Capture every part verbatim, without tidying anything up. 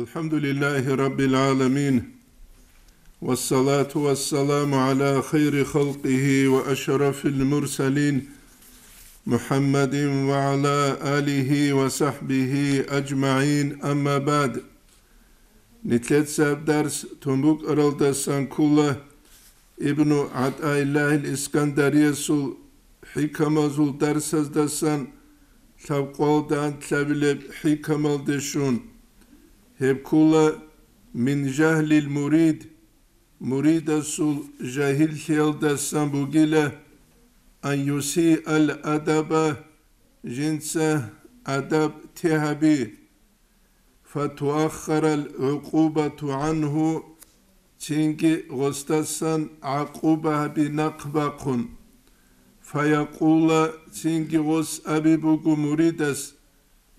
الحمد لله رب العالمين، والصلاة والسلام على خير خلقه وأشرف المرسلين، محمد وعلى آله وصحبه أجمعين، أما بعد. Нилъеца дарс тун букӀаралдасан ккола Ибну ГӀатӀаиллагьил Искандариясул хӀикамазул дарсаздасан лъабкъоялда анлъабилеб хӀикамалде щун. Гьеб ккола: мин жагьлил мурид, муридасул жагьиллъиялдасан бугила, ан юсиал адаба, жинца адаб те гьаби, фатуаххарал гӀукъубату гӀанху, цинги гъосдасан гӀакъуба гьаби нахъ бахъун. Фаякъула, цинги гъос аби буго муридас,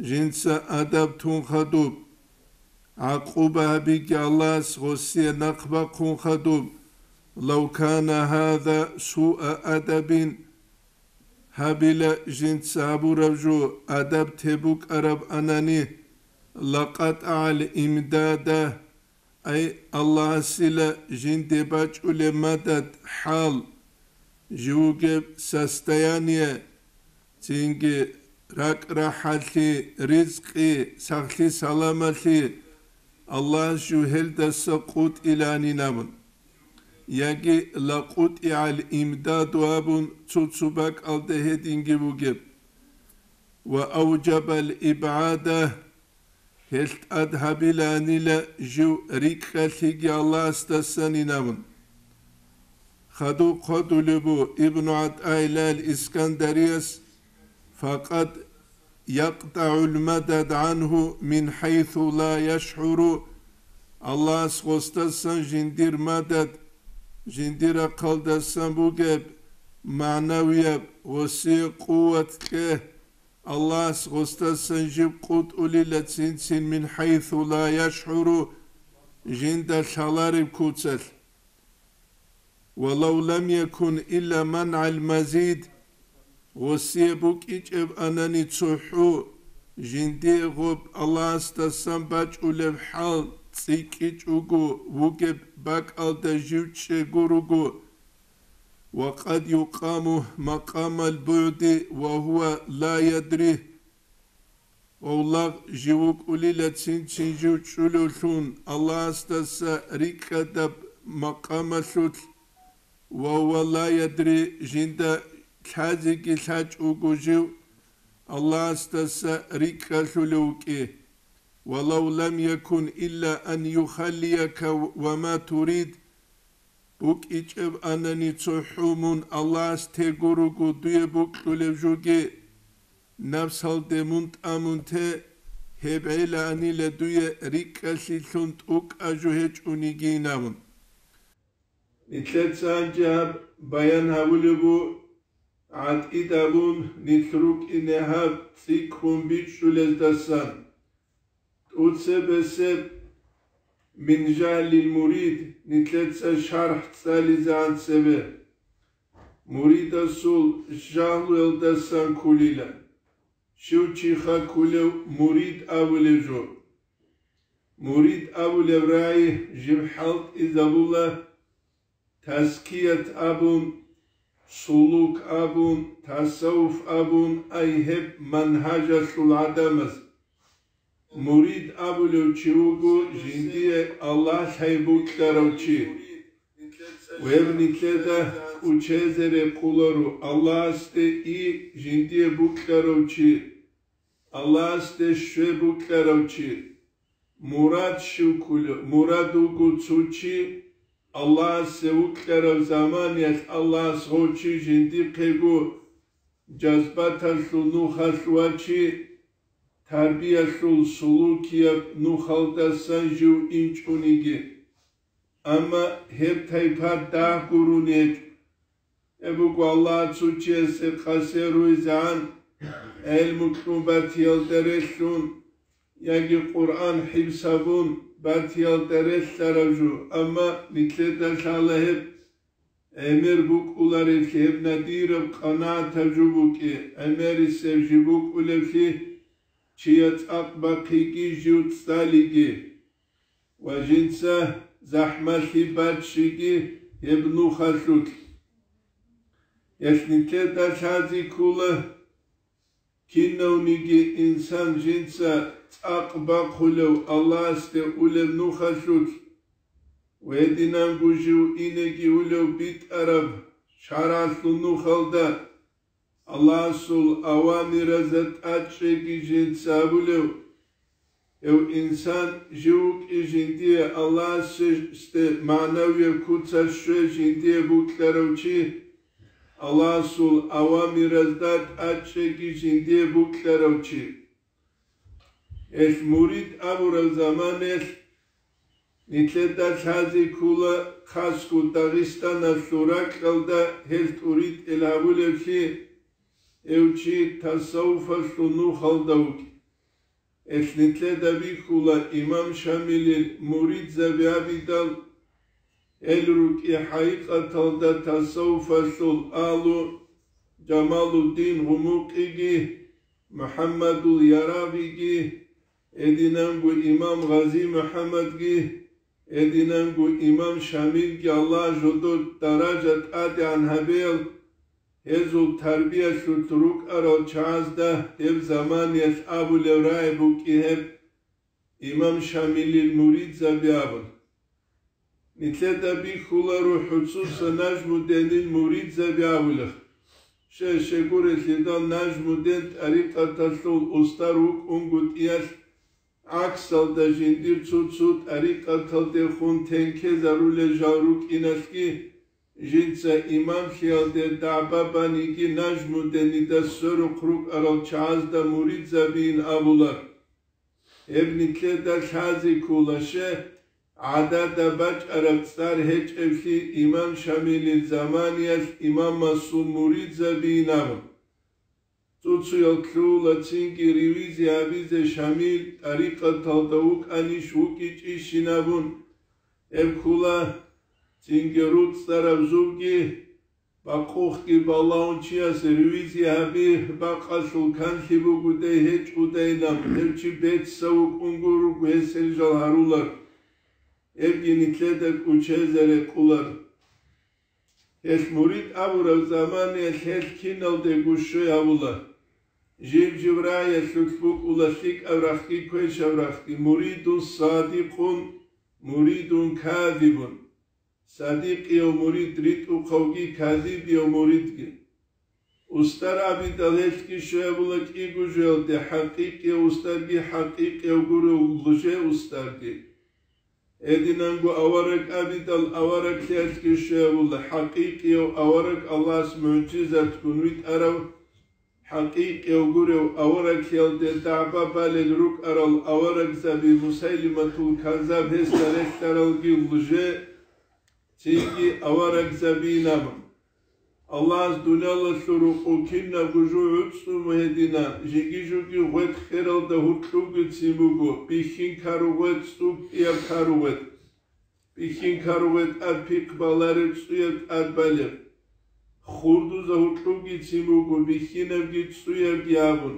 жинца адаб тун хадуб. ГӀакъуба гьабиги Аллагьас гъосие нахъ бахъун хадуб: «Лав кана гьаза суа адабин», гьабила жинца гьабураб жо адаб те букӀараб анани, лакъатӀагӀал имдада, ай Аллагьасила жинде бачӀулеб мадад, хӀал, живугеб состояние, цинги ракӀ-рахӀалъи, ризкъи, сахлъи-саламалъи Аллагьас жугьелдаса къутӀиланин абун. Яги лакъутӀигӀал имдаду абун цо-цо бакӀалда гьединги бугеб. Ва авжабал ибгӀада, гьелъ тӀад гьабиланила жив рикӀкӀалъиги Аллагьасдасанин абун. Хадуб хъвадулеб бу Ибну ГӀатӀаилал Искандарияс: «Факъад якътагӀул мадад гӀанху мин хӀайсу ла яшгӀуру», Аллагьас гъосдасан жиндир мадад, жиндир рахъалдасан бугеб магӀнавияб гъосие къуват кье, Аллагьас гъосдасан жиб къутӀулила цин-цин мин хӀайсу ла яшгӀуру, жинда лъалареб куцалъ. «Ва лав лам якун илла мангӀал мазид», гъосие букӀичӀеб анани цохӀо, жиндие гъоб Аллагьасдасан бачӀулеб хӀал цӀикӀкӀичӀого вугеб бакӀалда жив чӀего руго, «ва къад юкъаму макъамал бугӀди ва гьува ла ядри». Гъовлагъ жив вукӀулила цин-цин жив чӀулевлъун Аллагьасдаса рикӀкӀадаб макъамалъулъ, ва гьува ла ядри, жинда лъазеги лъачӀого жив Аллагьасдаса рикӀкӀалъулев вукӀи. «Ва лав лам якун илла ан юхаллияка ва ма турид», букӀичӀеб анани цохӀо мун Аллагьас тего руго дуе букьулеб жуги, напсалде мун тӀамун те, гьеб гӀеланила дуе рикӀкӀалъилъун тӀукӀа жо гьечӀонигин абун. Нилъеца гьанже гьаб баян гьабулеб бу, гӀатӀидабун нилъ рукӀине гьаб цӀикӀкӀун бичӀчӀулездасан. ТӀуцебесеб мин жагьлил мурид нилъеца шархӀ цӀализегӀан цебе. Муридасул жагьлуялдасан кколила. Щив чиха кколев мурид абулев жо. Мурид абулев рагӀи жиб хӀалтӀизабула, тазкият абун, сулук абун, тасаввуф абун, ай гьеб мангьажалъул гӀадамаз. Мурид абулев чи вуго жиндие Аллагь лъай букьарав чи. Гьеб нилъеда кӀучезе рекъоларо Аллагьасде и жиндие букьарав чи, Аллагьасде щве букьарав чи. Мурад щив кколев? Мурад вуго цо чи Аллагьасе вукьарав заманиялъ Аллагьас гъов чи жиндихъего жазбаталъул нухалъ вачи, тарбиялъул сулукияб нухалдасан жив инчӀониги. Амма гьеб тайпа дагь гурони гьечӀо. Гьеб буго Аллагьас цо чиясе къасе ругьизегӀан, гӀелму кьун батиялда релълъун, яги Къуръан хӀифзабун батиялда релълъарав жо, амма нилъеда лъала гьеб гӀемер букӀуларевлъи, гьеб надираб къанагӀатаб жо букӀи, гӀемерисеб жи букӀулевлъи, чияс цӀакъ бахъиги жив цӀалиги. ва жинца захӀмалъи баччиги гьеб нухалъулъ. Гьелъ нилъеда лъази ккола, кинавниги инсан жинца цӀакъ бахъулев Аллагьасде улеб нухалъулъ, гьединанго жив инеги улев битӀараб шаргӀалъул нухалда, Аллагьасул авамиразда тӀадчӀеги жинца абулев, гьев инсан жив вукӀи жиндие Аллагьасде магӀнавияб куцалъ щвей жиндие букьарав чи, Аллагьасул авамиразда тӀадчӀеги жиндие букьарав чи. Гьелъ мурид абураб заманаялъ нилъеда лъази ккола, хасго Дагъистаналъул ракьалда гьел тӀуритӀел гьабулевлъи, гьев чи тасаввуфалъул нухалда вукӀи. Гьелъ нилъеда бихьула имам Шамилил муридзаби абидал, гьел рукӀи хӀакъикъаталда тасаввуфалъул агьлу Жамалуддин Гъумукъиги, МухӀаммадул Ярагъиги, гьединанго имам Гъази МухӀаммадги, гьединанго имам Шамилги, Аллагь жодор даража тӀадегӀан гьабеял, гьезул тарбиялъулъ рукӀарал чагӀазда гьеб заманиялъ абулеб рагӀи букӀи гьеб имам Шамилил муридзаби абун. Нилъеда бихьуларо хӀуцуса Нажмуденил муридзаби абулеб. Щай-щай гурелъидал, Нажмуден тӀарикъаталъул устар вукӀунго тӀиялъ, гӀаксалда жиндир цо-цо тӀарикъаталдехун тенкезарулел жал рукӀиналъги, жинца имамлъиялде дагӀба баниги Нажмуденида сверухъ рукӀарал чагӀазда муридзабиин абулар. Гьеб нилъеда лъази ккола, щай, гӀадада бачӀараб цӀар гьечӀеблъи имам Шамилил заманиялъ имамасул муридзабиин абун. Цо-цоял ккола цинги ревизия гьабизе Шамил тӀарикъаталда вукӀанищ вукӀичӀищин абун. Гьеб ккола цинги руцӀцӀараб зубги бакъухъги балагьун чияс ревизия гьаби бакъалъул канлъи бугодай гьечӀодайилан, гьев чи бецав вукӀунго руго гьесел жал гьарулар. Гьебги нилъеда кӀочезе рекъолар. Гьелъ мурид абураб заманаялъ гьелъ киналдего щвей гьабула. Жиб-жиб рагӀиялъулъ букӀула лъикӀаб рахъги квешаб рахъги: муридун садикъун, муридун казибун. Садикъияв мурид ритӀухъавги казибияв муридги. Устар абидал гьелъги щвей гьабула кӀиго жоялде: хӀакъикъияв устарги, хӀакъикъияв гурев лжеустарги. Гьединанго авараг абидал авараглъиялъги щвей гьабула: хӀакъикъияв авараг Аллагьас мугӀжизатгун витӀарав, хӀакъикъияв гурев авараглъиялде дагӀба балел рукӀарал аварагзаби Мусайлиматул Каззаб гьесда релълъаралги лже, цинги аварагзабиин абун. Аллагьас дуниялалъул рукъу кинабго жо гӀуцӀцӀун гьедина, жиги-жуги гъветӀ хералда гьуркьубгицин буго, бихьин кару гъветӀ, цӀукӀкӀияб кару гъветӀ. Бихьин кару гъветӀ тӀад пихъ балареб, цӀуяб тӀад балеб. Хурдузда гьуркьубгицин буго, бихьинабги цӀуябги абун.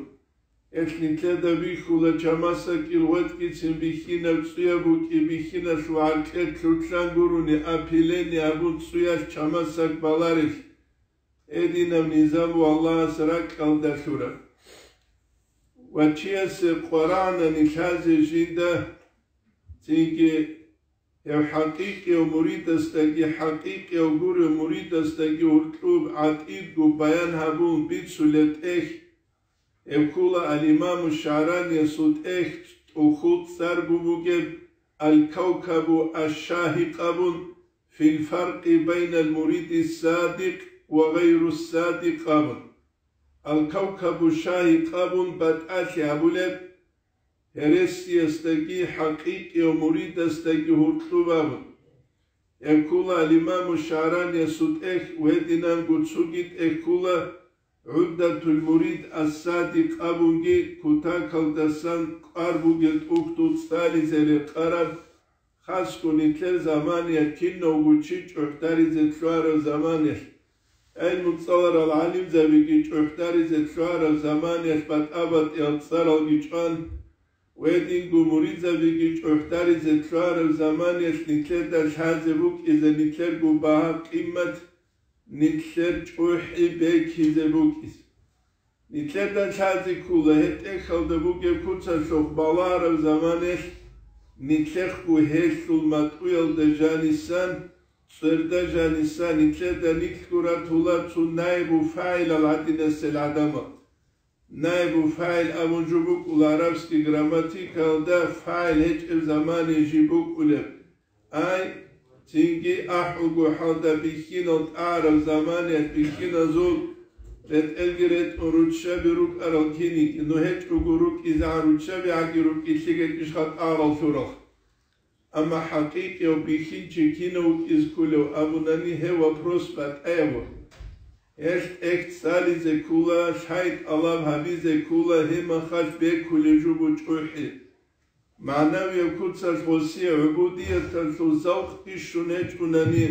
Гьелъ нилъеда бихьула чамасакӀил гъветӀгицин бихьинаб цӀуяб букӀи, бихьиналъул гӀаркье лъурлъан гурони, опиление абун цӀуялъ чамасак баларелъ. Гьединаб низам ва Аллагьас ракьалда лъураб. Ва чиясе къварагӀна нилъазе жинда, цинги гьев хӀакъикъияв муридасдаги, хӀакъикъияв гурев муридасдаги гьуркьуб гӀатӀидго баян гьабун бицулеб тӀехь, гьеб ккола ал-Имаму ШагӀраниясул тӀехь, тӀухьул цӀар бугеб, Ал-Кавкабу аш-Шагьикъ абун, фил фаркъи байнал муриди садикъ ва гъайру садикъ абун. Ал-Кавкабу Шагьикъ абун батӀалъи гьабулеб, гьересиясдаги хӀакъикъияв муридасдаги гьуркьуб абун. Гьеб ккола ал-Имаму ШагӀраниясул тӀехь, гьединанго цоги тӀехь ккола ГӀуддатул мурид ас-Садикъ абунги, кутакалдасан кӀвар бугел тӀухьдул цӀализе рекъараб, хасго нилъер заманиялъ кинавго чи чӀухӀдаризе лъугьараб заманиялъ, гӀелму цӀаларал гӀалимзабиги чӀухӀдаризе лъугьараб заманиялъ батӀа-батӀиял цӀаралги чӀван, Гьединго муридзабиги чӀухӀдаризе лъугьараб заманиялъ нилъеда лъазе букӀизе нилъерго багьа-къимат, нилъер чӀухӀи бекизе букӀизе. Нилъеда лъазе ккола гьеб тӀехьалда бугеб куцалъухъ балагьараб заманаялъ, нилъехъго гьелъул матӀуялда жанисан, цӀерда жанисан нилъеда нилъго ратула цо наибу фагӀилал гӀадинасел гӀадамал. Наибу фагӀил абун жо букӀула гӀарабский грамматикаялда фагӀил гьечӀеб замане жиб букӀулеб. Ай, цинги ахӀулго хӀалда бихьинал тӀагӀараб заманиялъ бихьиназул ретӀелги ретӀун руччаби рукӀарал киниги, ну гьечӀого рукӀизегӀан руччаби гӀаги рукӀи лъикӀ гьечӀищха тӀагӀарал лъурал. Амма хӀакъикъияв бихьинчи кинав вукӀиз кколев абунани гьев вопрос батӀаяб буго. Гьелъ тӀехь цӀализе ккола, лъай тӀалаб гьабизе ккола, гьеб мехалъ бекулеб жо буго чӀухӀи. МагӀнавияб куцалъ гъосие гӀубудияталъул завкъги щун гьечӀунани,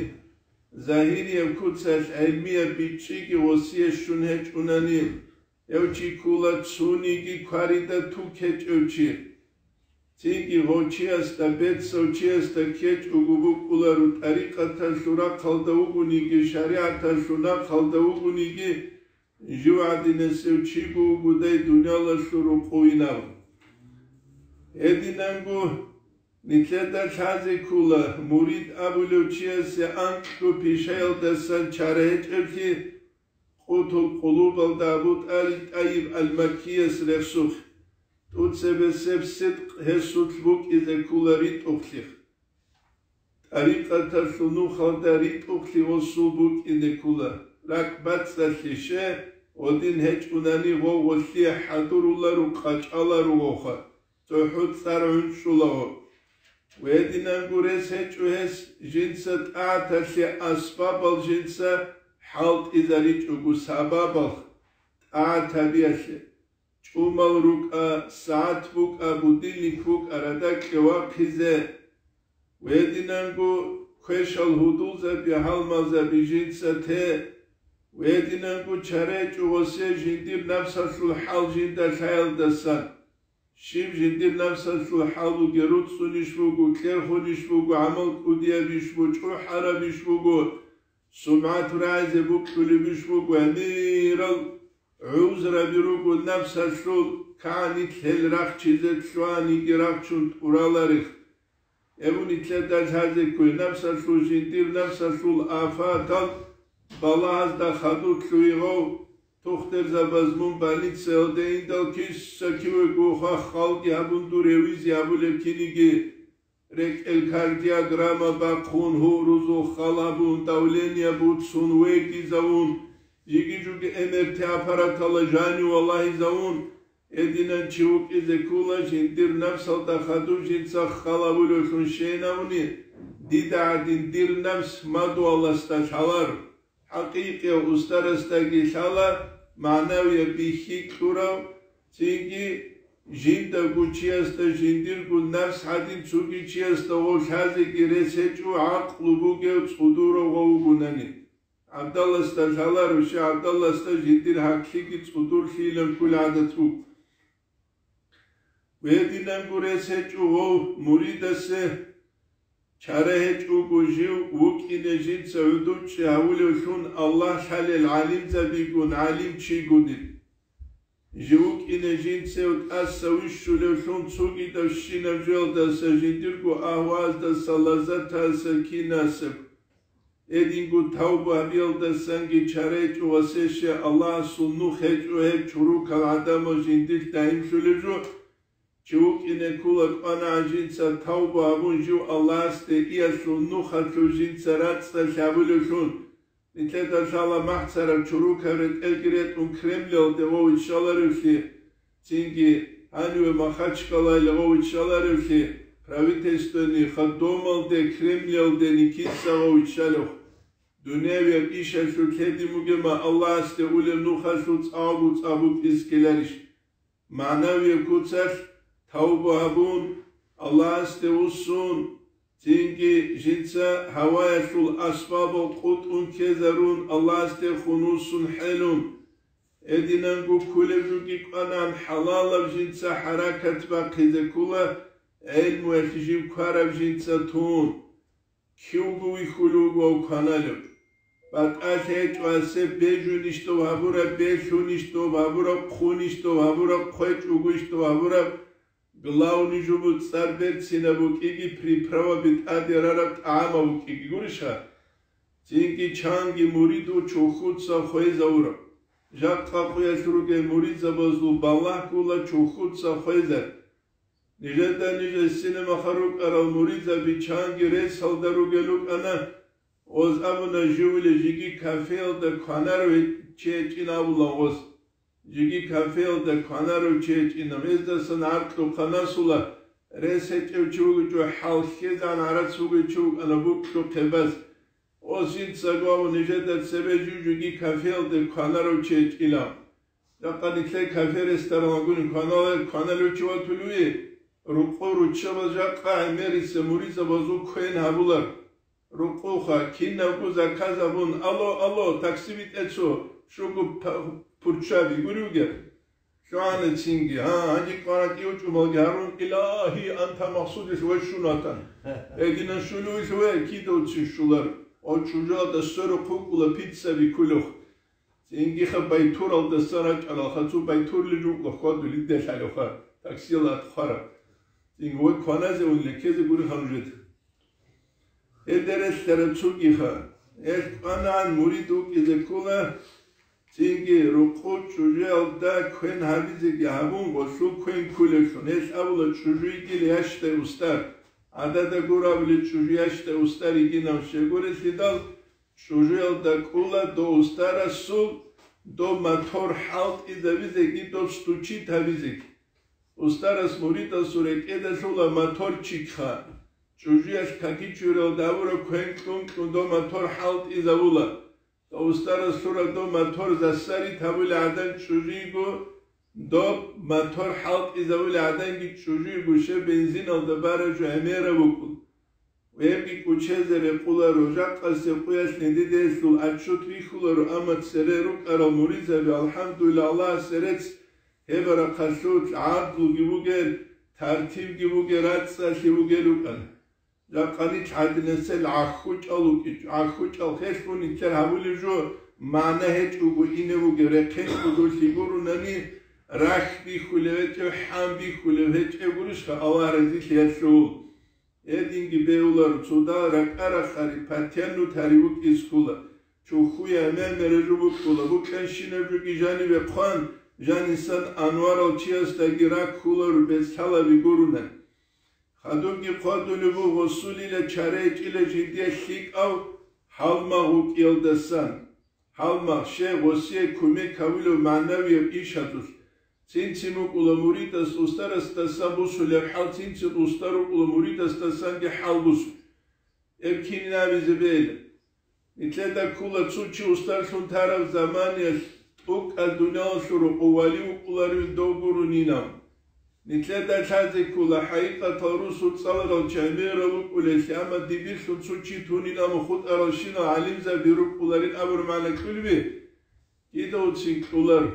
загьирияб куцалъ гӀелмияб бичӀчӀиги гъосие щун гьечӀунани, гьев чи ккола цониги кварида тукечӀев чи. Цинги гъов чиясда, бецав чиясда ккечӀого букӀуларо, тӀарикъаталъул рахъалда вугониги, шаригӀаталъул нахъалда вугониги, жив гӀадинасев чиго вугодай дуниялалъул рукъувинав. Гьединанго нилъеда лъазе ккола, мурид абулев чиясе анкьго пишаялдасан чара гьечӀеблъи, Къутул Къулубалда Абу ТӀал-, ТӀайиб ал-Маккияс рехсухъ, тӀуцебесеб сидкъ гьесулъ букӀизе ккола ритӀухълъи. ТӀарикъаталъул нухалда ритӀухълъи гъосул букӀине ккола, ракӀбацӀцӀалъи, ще, гъодин гьечӀунани гъов гъолъие хӀадуруларо, къачӀаларо гъовха, цохӀо цӀар гӀунчӀула гъов. Гьединанго рес гьечӀо гьес, жинца тӀагӀаталъе асбабал жинца хӀалтӀизаричӀого, сабабал тӀагӀат гьабиялъе. ЧӀумал рукӀа, сагӀат букӀа, будильник букӀа, радакье вахъизе. Гьединанго квешал гьудулзаби, гьалмагъзаби жинца те. Гьединанго чара гьечӀо гъосе жиндир напсалъул хӀал жинда лъаялдасан. Щиб жиндир напсалъул хӀал бугеб, руцӀцӀунищ буго, кьерхунищ буго, гӀамал кӀудиябищ буго, чӀухӀарабищ буго, сумгӀат рагӀизе бокьулебищ буго, гӀемерал гӀузраби руго напсалъул, кагӀанилъ гьел рахчизе лъугьаниги рахчун тӀураларех. Гьеб нилъеда лъазе ккола напсалъул, жиндир напсалъул афатал, балагьазда хадур лъугьи гъов, тухтурзабаз мун больницаялде индал киса-кивего хвалги гьабун дур гьевизе гьабулеб киниги, рекӀел кардиограмма бахъун, гьурузул хал гьабун, давление буцун, вегизавун, жиги-жуги МРТ аппараталда жанив валагьизавун, Гьединан чи вукӀизе ккола, жиндир напсалда хадув жинца хал гьабулевлъун щвенаани, дида гӀадин дир напс мадугьаласда лъалар, хӀакъикъияв устарасдаги лъала, магӀнавияб бихьи кьурав, цинги жиндаго чиясда жиндирго напс гӀадин цоги чиясда гъов лъазеги рес гьечӀо, гӀакълу бугев цӀудурав гъов вугонани. ГӀабдалласда лъаларо, щай ГӀабдалласда жиндир гьаклъиги цӀудурлъийилан кколеб гӀадат буго. Гьединанго рес гьечӀо гъов муридасе, чара гьечӀого жив вукӀине жинца гӀодов чӀи гьавулевлъун Аллагь лъалел гӀалимзабигун, гӀалимчигун. Жив вукӀине жинцев тӀаса вищулевлъун цогидавщинаб жоялдаса, жиндирго агьваздаса, лаззатаса, кинаса, гьединго тавба гьабиялдасанги чара гьечӀо гъосие Аллагьасул нух гьечӀо гьеб чорокал гӀадамал жиндилъ дагьимлъулеб жо. Чи вукӀине ккола кӀванагӀан жинца тавба гьабун, жив Аллагьасде иялъул нухалъув жинца рацӀцӀалъи гьабулевлъун. Нилъеда лъала махцараб чорокаб ретӀелги ретӀун Кремльалде гъов виччаларевлъи, цинги гьаниве Махачкалаялде гъов виччаларевлъи, правительственный ходдомалде, Кремльалде Никитица гъов виччалев. Дуниявияб ишалъулъ гьедин бугеб ма Аллагьасде улеб нухалъул цӀакъго цӀа букӀизе ккеларищ? МагӀнавияб куцалъ тавба гьабун, Аллагьасде вуссун, цинги жинца гьаваялъул асбабал къотӀун ккезарун, Аллагьасдехун вуссун хӀелун. Гьединанго кколеб жоги кӀванан, хӀалалаб жинца хӀаракат бахъизе ккола, гӀелмуялъ жив квараб жинца тун. Кивго вихьулев вав кваналев. БатӀалъи гьечӀо гьасеб, бежунищ дов гьабураб, белъунищ дов гьабураб, хъунищ дов гьабураб, хъвечӀогойищ дов гьабураб. Главный жубу цӀар берцинаб букӀиги, приправаби тӀаде рараб тӀагӀамаб букӀиги гурищха? Цинги чанги мурид вуч вухьуца хвезавураб. Жакъа къуялъ ругел муридзабазул балагь гула чухьуца хвезар. Нижеда ниж гьесинаб мехалъ рукӀарал муридзаби чанги ресалда ругел рукӀана, гъоз абуна, живли жиги кафеялда кванарав чи гьечӀин абула гъоз. Жиги кафеялда кванарав чи гьечӀин, гьездасан гӀаркьухъа насула, рес гьечӀев чи вугичӀо, хӀал хьезегӀан гӀарац вугев чи вукӀана букьухъе баз. Гъоз жинцаго абун нижеда цебе жив жиги кафеялде кванарав чи гьечӀила. Жакъа нилъер кафе-ресторан вагуни кванала-, кваналев чи ватулев вугев, рукъу руччабаз жакъа гӀемериса муридзабазул квен гьабулар. Рукъуха, кинабго заказ абун, «Алло, алло, такси битӀе цо, щуго п-, пурччаби», гури вугеб. ЛъугӀана цинги, гьа, гьанже кӀваракӀив чӀумалги гьарун, «Илагьи, анта максудилъ вай щун ватан». Гьединан щулевилъ вай кидавцин щулар, ва чӀужуялда сверухъ вукӀула пиццаби кулухъ. Цинги-ха байтуралдасан рачӀаралха, цо байтурлил рукӀа хьвадулиде лъалевха, таксиял атхъара. Цинги вай кваназе ун лекезе гури ха нужеда. Гьелде релълъараб цогиха, гьелъ кӀванагӀан мурид вукӀизе ккола, цинги рукъу чӀужуялда квен гьабизеги гьабун, гъолъул квен кколеблъун. Гьелъ абула, чӀужу йигила ящдай устар. ГӀадада гурабли чӀужу ящдай устар йигинав щегорелъидал, чӀужуялда кӀула дов устарасул дов мотор хӀалтӀизабизеги дов стучит гьабизеги. Устарас муридасул рекӀеда лъула моторчикха, чӀужуялъ какичуриялда абураб квен кьун-кьун дов мотор хӀалтӀизавула. Дов устарас лъура дов мотор засарит гьабулей гӀадан чӀужуйго, доб мотор хӀалтӀизавулей гӀаданги чӀужуйго щай бензиналда бараб жо гӀемераб букӀун. Гьебги кӀучезе рекъуларо, жакъасеб къуялъ нидеделъул отчет бихьуларо, амма цере рукӀарал муридзаби, алхӀамдулиллагь, Аллагьасе рецц, гьеб рахъалъулъ гӀадлуги бугел, тартибги бугел, рацӀцӀалъи бугел рукӀана. Жакъа нилъ гӀадинасел гӀахьучӀал вукӀинчӀо, гӀахьучӀал хелъун нилъер гьабулеб жо, магӀна гьечӀого ине бугеб, рехъен кӀодолъи гурунани, рахь бихьулев гьечӀев, хӀан бихьулев гьечӀев гурищха Аллагь разилъиялъул. Гьединги бегьуларо, цо дагь ракӀа-рахъари, патянну тари вукӀиз ккола, чухьуя мемере жо букӀула, букӀанщинаб жоги жаниве хъван, жанисан анварал чиясдаги раккуларо бецлъалаби гуруна. Хадубги хъвадулеб буго, гъосулила чара гьечӀила жиндие лъикӀав гьалмагъ вукӀиялдасан. Гьалмагъ, щай, гъосие кумек гьавулев магӀнавияб иш гьадулъ. Цин-цин букӀула муридас устарасдасан бусулеб хӀал, цин-цин устар вукӀула муридасдасанги хӀал бусу. Гьеб кинин абизе бегьила? Нилъеда ккола цо чи устарлъун тараб заманиялъ тӀокӀаб дуниялалъул рокъов вали вукӀуларев дов гурунинав. Нилъеда лъазе ккола, хӀакъикъаталда русул цӀаларал чи гӀемерал рукӀулеллъи, амма дибирлъун цо чи тунин абун хутӀаралщинал гӀалимзаби рукӀуларин абураб магӀна кьулеб? Кидавцин кьулар.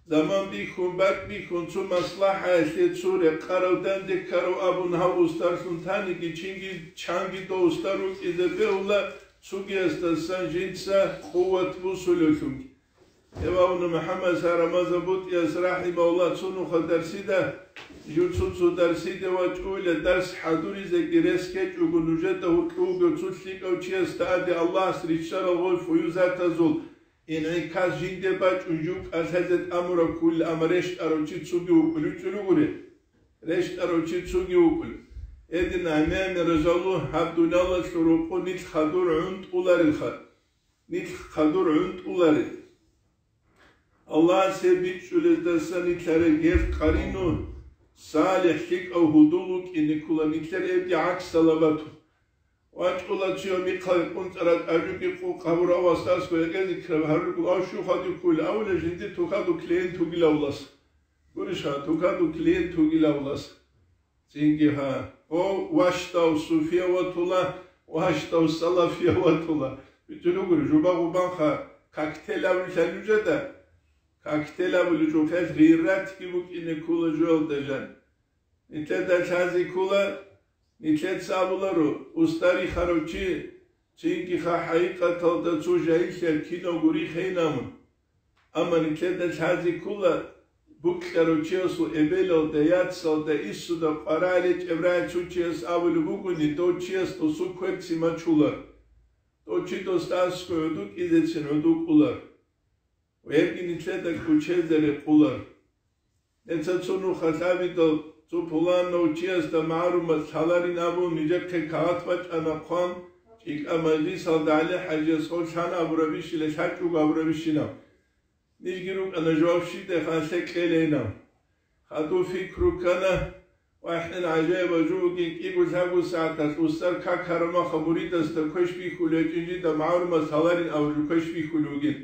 Заман бихьун, бакӀ бихьун, цо маслахӀаялъе, цо рекъарав, данде ккарав абун гьав устарлъун таниги, чинги, чанги дов устар вукӀизе бегьула, цогиясдасан жинца къуват бусулевлъунги. Гьевална МухӀаммад Сарамазан БутӀияс рахӀимагьуллагь цо нуха дарсида, жив цо-цо дарсиде вачӀуйла, дарс хӀадуризеги рес гьечӀого, нужеда гьоркьов вугев цо лъикӀав чиясда аде Аллагьас риччарал гъой фуюзатазул инъикас жинде бачӀун жив кӀалъазе тӀамураб кколила, амма рещтӀарав чи цоги вукӀулев чӀулугури. РещтӀарав чи цоги вукӀулев. Гьедин гӀемер-гӀемер ражалу гьаб дуниялалъул рокъо нилъ хадур гӀунтӀуларелха. Нилъ хадур гӀунтӀуларел. Аллагьас гьеб бичӀчӀулездасан нилъ гьарел гьел къарину, салихӀ, лъикӀав гьудул вукӀине ккола, нилъер эбги гӀаксалаб батун. ВачӀула цо михъа кӀунцӀараб тӀажуги къу-, къабурав васасго гьекъезе ккараб гьарургул, ав щухадуккула, авула жинди тухаду клиент вугилавлас. Гурищха, тухаду клиент вугилавлас. Цинги гьа. О, ващдав суфия ватула, ващдав салафия ватула. Битулугури, жуба-гъубанха коктейль абулелъа нужеда. актел абулев жухъел гъиратги букӀине ккола жоялда жан. Нилъеда лъазе ккола, нилъеца абуларо, устарихарав чи, цинги ха хӀакъикъаталда цо жагьиллъиялъ кинавго рихейин абун. Амма нилъеда лъазе ккола, букьарав чиясул эбелалда, яцалда, иссуда къваригӀел гьечӀеб рагӀи цо чияс абулеб бугони, дов чияс досул кверцин мачулар. Дов чи досда аскӀов гӀодов кӀизецин гӀодов кӀолар. Гьебги нилъеда кӀочезе рекъолар. Нилъеца цо нух лъабидал, цо пуланав чиясда магӀарумат лъаларин абун, нижехъе кагъат бачӀана хъван, чӀикӀа мажлисалда ГӀали-хӀажияс гъов лъан абурабищила, лъачӀого абурабищинаб. Нижги рукӀана жаваб щиб дехъан лъе кьелейилан. Хадув пикру ккана, вахӀин гӀажаибаб жо бугин, кӀиго-лъабго сагӀаталъ устар какараб махалъ муридасда квеш бихьулев гьечӀин жинда магӀарумат лъаларин абураб квеш бихьулев вугин.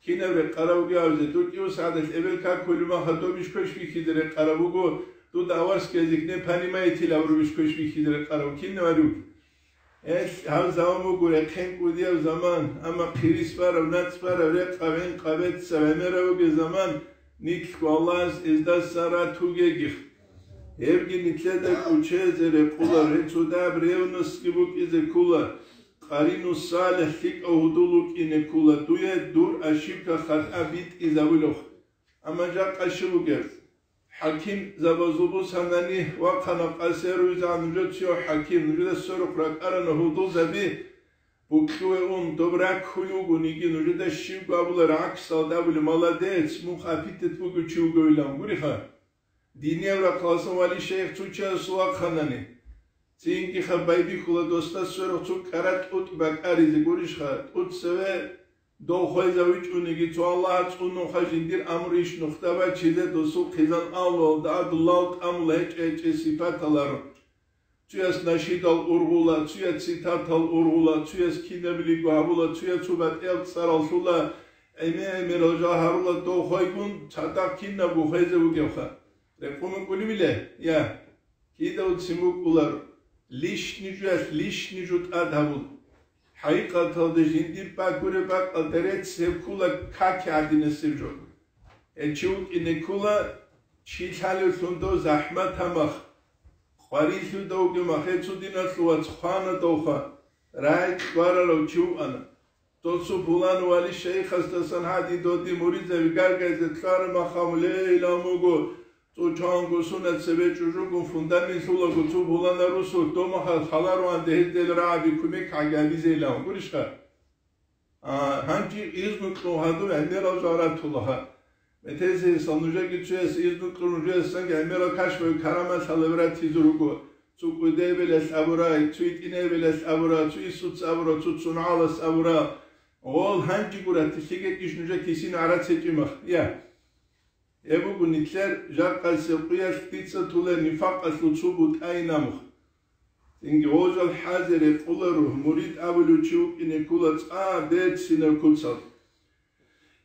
Кинаб рекъарав вугев абизе, дур кӀиго сагӀаталъ эбел какулеб махалъ добищ квеш бихьизе рекъараб буго, дуда аварский язык не понимаете-л абурабищ квеш бихьизе рекъараб, кинаб гьарив? Гьелъ гьаб заман буго рехъен кӀудияб заман, амма хъирис бараб, нацӀ бараб, рекъаб, гӀинкъаб, беццаб гӀемераб бугеб заман, нилъго Аллагьас эздасан ратугегих. Гьебги нилъеда кӀочезе рекъолар, гьеб цо дагьаб ревностьги букӀизе ккола, къарину салихӀ лъикӀав гьудул вукӀине ккола, дуе дур ошибка, хатӀа битӀизабулев. Амма жакъа щиб бугеб? ХӀакимзабазул бусанани вахъана къасерувизегӀан нужецияв хӀаким, нужеда сверухъ ракӀарана гьудулзаби, букьуе ун, доб раккулев вугониги, нужеда щибго абулар гӀаксалда абулеб, молодец, мун хъапитет бугев чи вугевилан, гуриха. Динияв рахъаласан вали шейх цо чиясул вахъанани, цинги хаб байбихьула досда сверухъ цо кӀкӀара тӀутӀ бакӀаризе, гурищха, тӀутӀ цеве дов хвезавичӀониги, цо Аллагьас цӀунунха жиндир амру иш нухда бачизе досул хъизан авлуялда гӀадулал тӀамула гьечӀей-гьечӀей сипаталаро. Цуяс нашидал ургъула, цуяс цитатал ургъула, цуяс кинабилиго гьабула, цуяс цо батӀиял цӀарал лъула, гӀемер-гӀемерал жал гьарула дов хвейгун, цадахъ кинабго хвезе вугевха. Рекъон вукӀунебила? Я. Кидаго цин букӀулар, лишни жуялъ лишни жу тӀад гьабун. ХӀакъикъаталда жиндир бакӀуреб бакӀалда рецц гьеб ккула каки гӀадинасеб жо. Гьев чи вукӀине ккула, чи лъалевлъун дов захӀмат гьамах, къварилъудавги махе цо диналъул вац хвана довха, рагӀи кьварарав чи вукӀана. Досу пулан вали шейхасдасан гьадин доди муридзаби гаргайзе ккараб махамулейилан буго, цо чанго суна цебе чӀужугун фундамент лъулаго цо пулана русулъ домахал халаруан дегьиздел рагӀаби кумек гӀагабизейилан гурищха? А, гьанкӀи изну кьун гьадур гӀемерал жал ратулаха. Метезеясал нужеги цояс изну кьун нужеясанги гӀемерал кашфаби карамат лъалаби ратизе руго. Цо кӀудебелалъ абурай, цо итӀинебелалъ абурай, цо исуц абурай, цо цунагӀалас абурай. Гъол гьанжи гура, тилъиге иш нужер кисин гӀарац гьечӀимах. Я. Гьеб буго нилъер жакъасеб къуялъ дица тулер нифакъалъул цо бутӀайин амух. Цинги гъожал хӀазе рекъоларо, мурид абулев чи вукӀине ккола цӀа берцинаб куцал.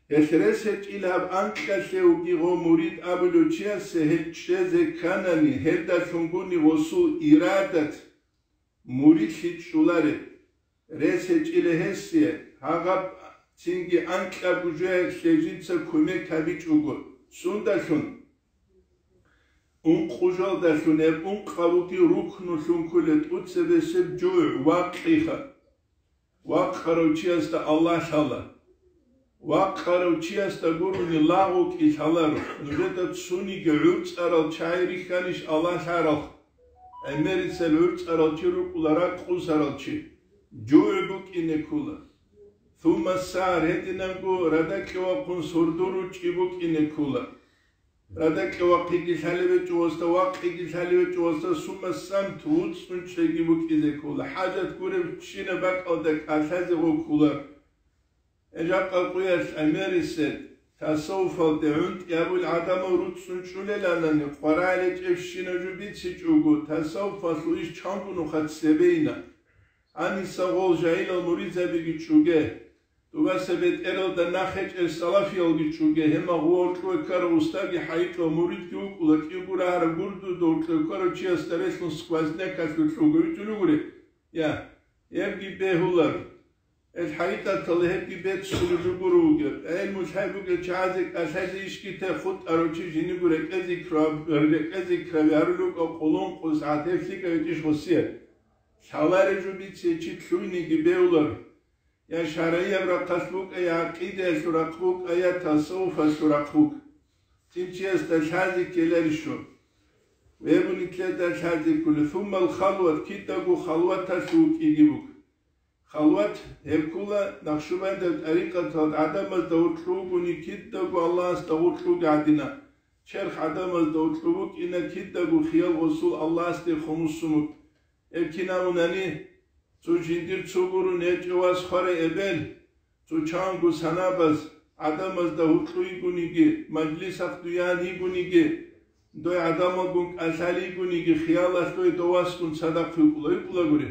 Гьелъ рес гьечӀил гьаб анкьалъе вугев гъо мурид абулев чиясе гьеб чӀезе кканани, гьелдалъун гуни гъосул ирадат муридлъи чӀолареб. Рес гьечӀила гьесие, гьагъаб цинги анкьаб жоялъе жинца кумек гьабичӀого. Сундалъун? Ункъужалдалъун гьеб ункъаб бугеб рукнулъун ккола тӀуцебесеб жугӀ, вакъиха. Вакъарав чиясда Аллагь лъала. Вакъарав чиясда гурони лагъ вукӀин лъаларо. Нужеда цониги гӀурцӀарал чагӀи рихьанищ Аллагь лъарал? ГӀемерисел гӀурцӀарал чи рукӀула ракъусарал чи. ЖугӀ букӀине ккола. Сумма сагьар, гьединанго радакье вахъун сордо ручӀи букӀине ккола. Радакье вахъиги лъалеб гьечӀо васда, вакъиги лъалеб гьечӀо васда, сумма самт, вуцӀцӀун чӀеги букӀизе ккола. ХӀажат гуребщинаб бакӀалда кӀалъазе гъо ккола. Гьеб жакъа къуялъ гӀемерисел тасаввуфалде гӀунтӀи гьабул гӀадамал руцӀцӀун чӀулеланани, къваригӀел гьечӀебщинаб жо бицичӀого, тасаввуфалъул иш чанго нухалъ цебейина. Гьаниса гъол жагьилал муридзабиги чӀуге. Дугаса бетӀералда нахъ гьечӀел салафиялги чӀуге, гьеб магъу гьоркьове ккарав устаги хӀайикьав муридги вукӀула, кӀиго рагьараб гурдуда гьоркьове ккарав чиясда релълъун сквознякалъулъ лъугьуна витӀулев гури. Я, гьебги бегьулар. Гьел хӀакъикъаталда гьебги беццулеб жо гуро вугеб. ГӀелму лъай бугел чагӀазе кӀалъазе ишги те хутӀарав чи жиниго рекӀезе краб-, рекӀезе краби гьарулев вукӀа, къулун-къусгӀат гьеб лъикӀав гьечӀищ гъосие. Лъалареб жо бицине чи лъугьинеги бегьуларо. Я шаргӀияб рахъалъ букӀа, я гӀакъидаялъул рахъ букӀа, я тасаввуфалъул рахъ букӀа. Цин чиясда лъазе ккеларищ жо? Гьеб нилъеда лъазе кколеб. Суммал халват, кидаго халваталъув вукӀиги буго. Халват гьеб ккола Накъшубандияб тӀарикъаталда гӀадамазда гьоркьов вугони кидаго Аллагьасда гьоркьовги гӀадина. Черх гӀадамазда гьоркьов вукӀина, кидаго хиял гъосул Аллагьасде хомусун вукӀ. Гьеб кин абунани, цо жиндир цо гурун гьечӀев вас хварай эбел, цо чанго санабаз, гӀадамазда гьоркьов йигониги, мажлисахъ дуян йигониги, дой гӀадамалгун кӀалъал йигониги, хиялалъ дой дов васгун цадахъ вукӀула, вукӀулагури.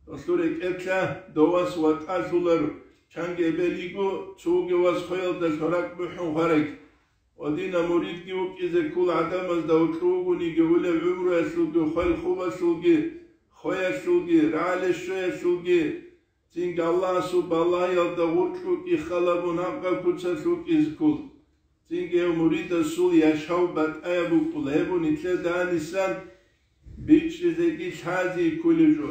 Долъул рекӀелъа дов вас ватӀалъуларо, чанги эбел йиго, цо вугев вас хвеялдалъун ракӀ бухӀун хварай. Гьедина муридги вукӀизе ккола гӀадамазда гьоркьов вугониги, улеб гӀумруялъулги, хвел-хубалъулги, хвеялъулги, рагӀале-щвеялъулги, цинги Аллагьасул балагьиялда гъоркь вукӀин халабун гьаб-гьаб куцалъ вукӀизе ккола. Цинги гьев муридасул яшав батӀаяб букӀула, гьеб нилъеда гьанисан бичӀчӀизеги лъазе кколеб жо.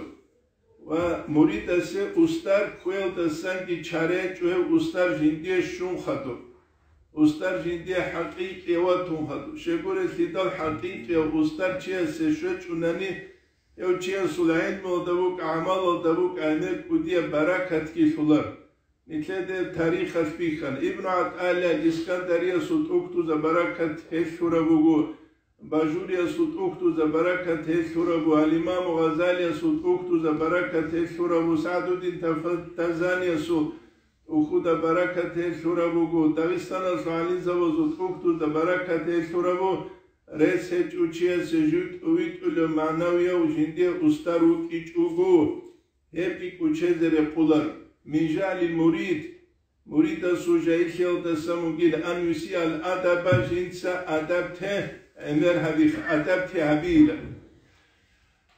Ва муридасе устар кквеялдасанги чара гьечӀо гьев устар жиндие щун хадуб. Устар жиндие хӀакъикъияв ватун хадуб. Щайгурелъидал хӀакъикъияв устар чиясе щвечӀунани, гьев чиясул гӀелмуялда букӀа, гӀамалалда букӀа, гӀемер кӀудияб баракатги лъолар. Нилъеде тарихалъ бихьана. Ибну ГӀатӀаиллагь Искандариясул тӀухьдузаб баракат гьелъ лъураб буго, Бажуриясул тӀухьдузаб баракат гьелъ лъурабу, ал-Имаму Гъазалиясул тӀухьдузаб баракат гьелъ лъурабу, СагӀдуддин Тафа-, Тазаниясул тӀухьдузаб баракат гьелъ лъурабуго, Дагъистаналъул гӀалимзабазул тӀухьдузаб баракат гьелъ лъурабу, рес гьечӀев чиясе жив тӀовитӀулев магӀнавияв жиндие устар вукӀичӀого, гьебги кӀочезе рекъолар. Мин жагьлил мурид, муридасул жагьиллъиялдасан вугила, ан юсиал адаба, жинца адаб те гӀемер гьабихъ, адаб те гьабила.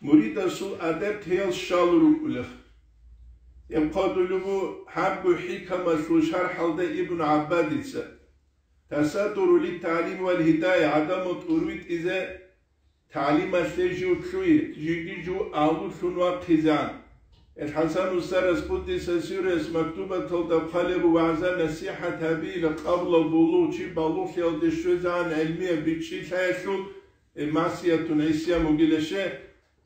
Муридасул адаб тейал щал рукӀулех. Гьеб хъодулеб бу гьабго хӀикамалъул шархӀалда Ибн ГӀаббадица. Тасаддуру литтагӀлим вал гьидая, гӀадамал тӀурвитӀизе, тагӀлималъе жив лъугьи, жиги жив агьлулъун вахъизегӀан. Ил ХӀасан устарас, къуддиса сирругьу, мактубаталда хъвалеб вагӀза-насихӀат гьабила, къаблал булугъ, чи балугълъиялде щвезегӀан гӀелмияб бичӀчӀи лъаялъул, э, масиятун гӀисиян бугила ще,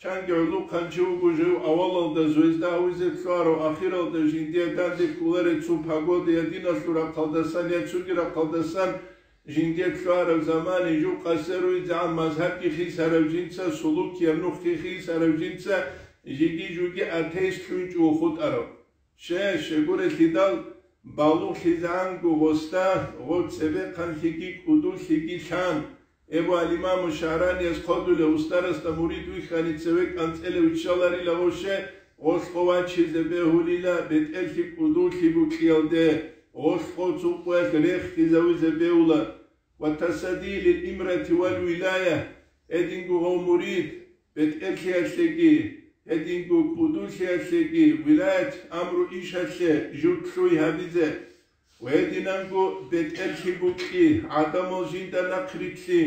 чанги гӀулухъанчи вуго жив авалалда зоязда гьавизе лъугьарав, ахиралда жиндие данде кколареб цо погода я диналъул рахъалдасан, я цоги рахъалдасан, жиндие лъугьараб замане жив къасеруйзегӀан мазгьабги хисарав жинца, сулукияб нухги хисарав жинца, жиги-жуги атеистлъунчӀого хутӀарав. Ще, щегурелъидал балугълъизегӀанго гъосда гъо цебехъанлъиги кӀудуллъиги лъан, эбу ал-Имаму ШагӀраниялъ хъодулев устарасда мурид вихьани цеве кӀанцӀелев виччаларила гъо ще, гъолъго вачизе бегьулила, бетӀерлъи кӀудуллъи букӀиялде, гъолъго цукъуялъ рехизавизе бегьула. Ва тасаддур лил имарати вал вилая, гьединго гъов мурид, бетӀерлъиялъеги, гьединго кӀудулъиялъеги, вилаят амру ишалъе жив лъугьи гьабизе, ва гьединанго бетӀерлъи букӀи, гӀадамал жинда нахърилълъи,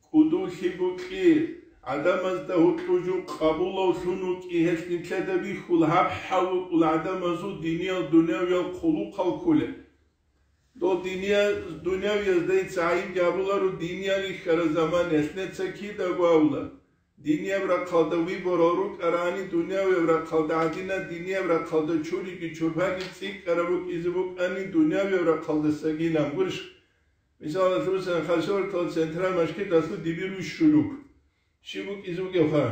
кӀудуллъи букӀи, гӀадамазда гьоркьов жив къабулавлъун вукӀи, гьелъ нилъеда бихьула гьаб хӀал вукӀула гӀадамазул диниял-дунявиял хъулухъал кколеб. Дол диния-, дунявиязда дица гӀайибги гьабуларо, динияб рихьараб заманаялъ нилъеца кидаго абула. Динияб рахъалда выборал рукӀарани, дунявияб рахъалда гӀадина, динияб рахъалда чуриги чурбаги цӀикӀкӀараб букӀизе букӀани, дунявияб рахъалдасагилан гурищ. Мисалалъусан, хасавюрталъ Централ мажгиталъув дибир вищулев вуго. Щиб букӀизе бугебха?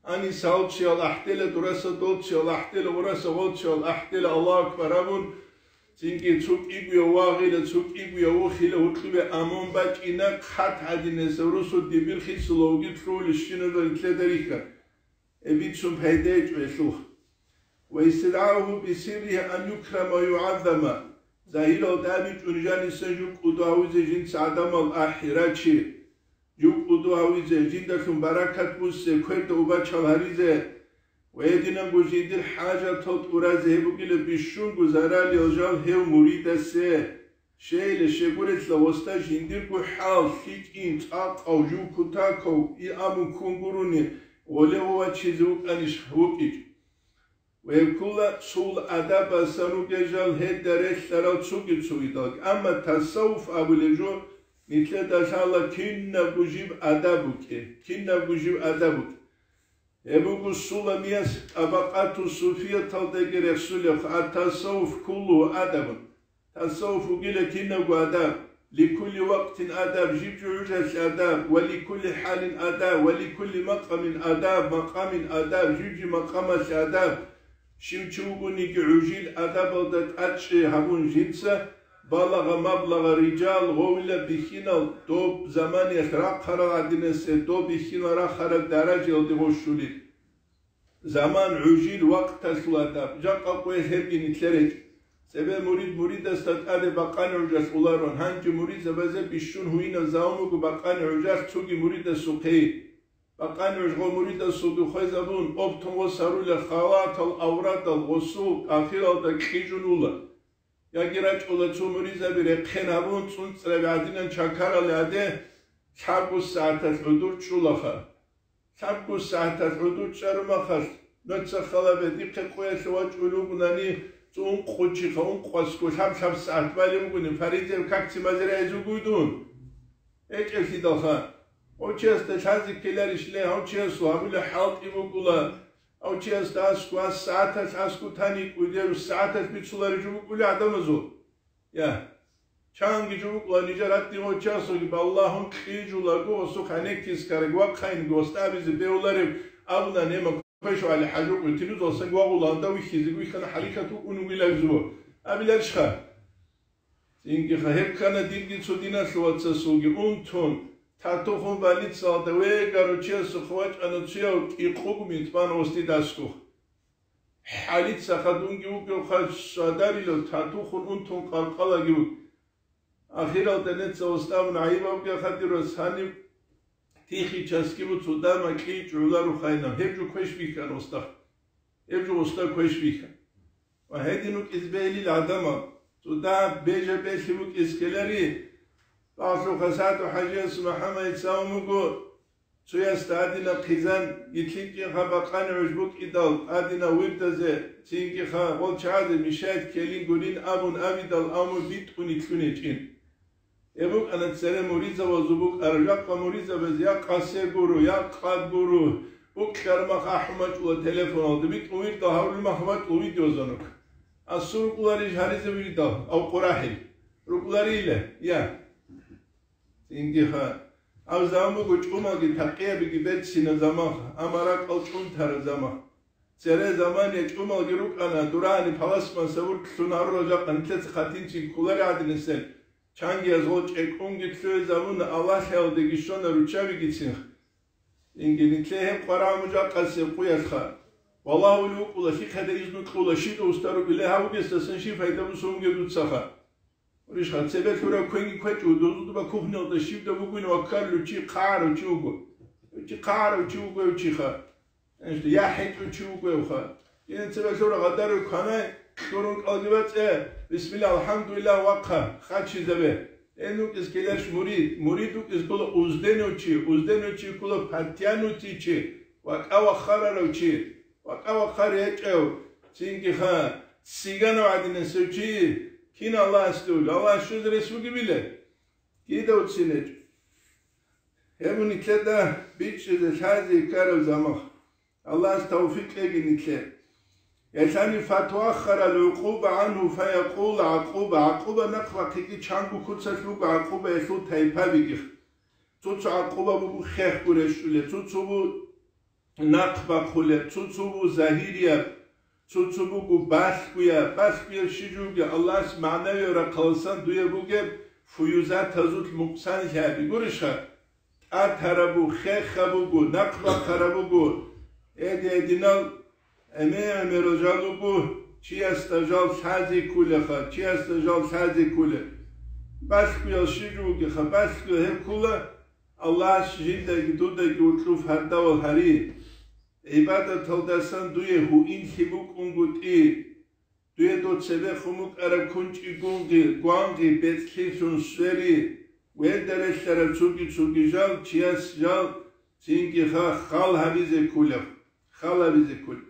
Гьаниса гьав чиял ахӀдела, дураса дов чиял ахӀдела, гъураса гъов чиял ахӀдела, Аллагьу акбар абун, цинги цо кӀигояв вагъила, цо кӀигояв вухила, гьоркьобе амун бачӀина, хъат гӀадинасев росу дибир хисулавги лъугьулищиназул нилъеда рихьа. Гьеб бицун пайда гьечӀо гьелъухъ. Ва истидгӀауху бисирригьи ан юкрама ва югӀаззама. Загьиралда абичӀони жаниса жив кӀуду гьавизе жинца гӀадамал ахӀи рачи. Жив кӀуду гьавизе, жиндалъун баракат буссине, кверда убачал гьаризе, Ва гьединабго жиндир хӀажатал тӀуразе гьеб бугила бищунго заралиял жал гьев муридасе. Щейила щегурелъа гъосда жиндирго хӀал, лъикӀин, цӀакъав, жив кутакав, и абун ккун гурони, гъоле гъов вачизе вукӀанищ вукӀичӀ. Ва гьеб ккола цул адабасан ругел жал гьелда релълъарал цоги-цогидалги. Амма тасаввуф абулеб жо, нилъеда лъала кинабго жиб адаб букӀин, кинабго жиб адаб букӀин. Гьеб буго Суламияс ТӀабакъату суфияталдаги рехсулеб, ат-тасаввуф куллугьу адабун. Тасаввуф вугила кинабго адаб, ликулли вакътин адаб, жиб-жиб гӀужалъе адаб, ва ликулли хӀалин адаб, ва ликулли макъамин адаб, макъамин адаб, жиб-жиб макъамалъе адаб. Щив чи вугониги гӀужил адабалда тӀадчӀей гьабун жинца, балагъа-маблагъа рижал, гъовила бихьинал, доб заманиялъ рахъарал гӀадинасе доб бихьинал рахараб даражаялде гъощулел. Заман, гӀужил, вакъталъул адаб, жакъа къоялъ гьебги нилъер гьечӀо. Цебе мурид муридасда тӀаде бакъани гӀужалъ уларун, гьанже муридзабазе бищун гьуинаб заман буго бакъани гӀужалъ цоги муридасухъе. Бакъани гӀуж гъо муридасулги хвезабун, оптун гъос гьарулел халатал аврадал гъосул ахиралда кьижун ула. Яги рачӀула цо муридзаби рехъен гьабун, цӀунцӀраби гӀадинан чакарал гӀаде, лъабго сагӀаталъ гӀодор чӀулаха. Лъабго сагӀаталъ гӀодор чӀарумахалъ, нуца халабе дихъе къоялъе вачӀулев вугунани, цо ункъо чиха, ункъо аскӀо, лъаб-лъаб сагӀат балев вугони, фаридияб какци базе рагӀизе вугони дун? ГьечӀелъидалха, гьав чиясда лъазе ккеларищ ле, гьав чиясул гьабулеб хӀалтӀи букӀула, гьав чиясда аскӀо, гьас сагӀаталъ аскӀо тани кӀудеру сагӀаталъ бицуларищ букӀули гӀадамазул? Я. Чанги жо букӀула нижер гьатӀи гъочасулги балагьун кьижулаго гъосухъ гӀенеккискараг вахъайинги гъосда абизе бегьуларев абуна нема квешав гӀали хӀажукъи тинузалсан гвагъуланда вихьизе вихьана хӀарикат вукӀун вугилан зугьу абиларищха? Цинги ха гьеб ккана дирги цо диналъул вацасулги унтун, татухун больницалда вегарав чиясухъ вачӀана цуяв кӀикъугу митӀбан гъосде дасгух. ХӀалица хадунги вугевха шадарилав татухун унтун къалкъалаги вуг. Ахиралда неца устӀабун гӀайибавги хадирас гьаниб тихи часкибу цо дама кьи чӀуларухъайнав, гьеб жо квеш бихьана устахъ. Гьеб жо устахъ квеш бихьана. Ва гьедин вукӀиз бегьилил гӀадамал, цо дагь бежа-бегьлъи букӀиз ккелари, Павлов Хасатов ХӀажияс МухӀаммадица ун буго, цоясда гьадинаб хъизан, гьитӀинкӀинха бакъани гӀуж букӀидал, гьадинаб вирдазе, цинкӀиха гъолчагӀазе мешает ккелин гурин абун абидал, амма битӀун итлъун гьечӀин. Гьеб букӀана цере муридзабазул букӀараб, жакъа муридзабаз я къасе гуро, я къад гуро, укьармах ахӀун бачӀула телефоналда, битӀун вирдал гьаврулмах бачӀула видеозвонок. Асул рукӀуларищ гьаризе вирдал, ав къурахӀил? РукӀуларила, я. Цинги ха. Гьав заман буго чӀумалги такъиябиги берцина заман, амма ракӀал чӀунтара заман. Цере заман я чӀумалги рукӀана, дурагьани паласман савур лъун гьарурал жакъа нилъеца хъатинцин кколари гӀадинисел. Чангияз гъо чӀекӀунги лъугьизабуна, Аллагьлъиялдеги щвана руччабигицин. Инги нилъее гьеб къварагӀму жакъасеб къуялъха. Валагьулев вукӀула, лъихъеда изну кьула, щиб устару биле гьавугесдасан щиб пайда бусунге дуцаха. Уришха, цебе лъурав квенги квечӀо, дозудуба кухнялда щибда бугин ва ккарулев чи хъарав чи вуго. Чи хъарав чи вуго чиха. Ишта, я хӀинчӀев чи вугевха. Ин цебе лъура гъадару кванай, кьурун кӀалги бацӀе, бисмилла, алхӀамдулиллагь, вахъа, хъачизабе. Ин вукӀиз ккеларищ мурид, мурид вукӀиз ккола узденав чи, узденав чи ккола патянутий чи, вакӀа вахарарав чи, вакӀа вахар гьечӀев, цинги ха, ццигана гӀадинасев чи, кин Аллагьасде вули, Аллагьас щвезе рес вугебила? Кидав цинечӀ. Гьеб нилъеда бичӀчӀизе лъазе ккараб замах. Аллагьас тавфикъ кьеги нилъе. Яшани фатуаххарал гӀукъуба гӀанху фаякъул гӀакъуба. ГӀакъуба нахъ бахъиги чанго куцалъ буго гӀакъубаялъул тайпабиги. Цо-цо гӀакъуба буго хехго рещтӀулеб, цо-цо бу нахъ бахъулеб, цо-цо бу загьирияб, цо-цо буго балъгояб. Балъгояб щиб жо бугеб? Аллагьас магӀнавияб рахъаласан дуе бугеб фуюзатазул мукъсанлъи гьаби. Гурищха? ТӀатараб буго, хехаб буго, нахъ бахъараб буго. Эди-эдинал гӀемер-гӀемерал жал руго, чиясда жал лъазе кколеха, чиясда жал лъазе кколеб. Балъгоял щиб жо бугеха? Балъго гьеб ккола, Аллагьас жиндаги дудаги гьоркьов гьардавал гьари. гӀибадаталдасан дуе гьуинлъи букӀунгутӀи, дуе дов цебехун букӀараб кунчӀи гунги, гванги, бецӀлъилъун свери, верда релълъараб цоги-цоги жал, чияс жал, цинги ха-, хал гьабизе кколеб, хал гьабизе кколеб.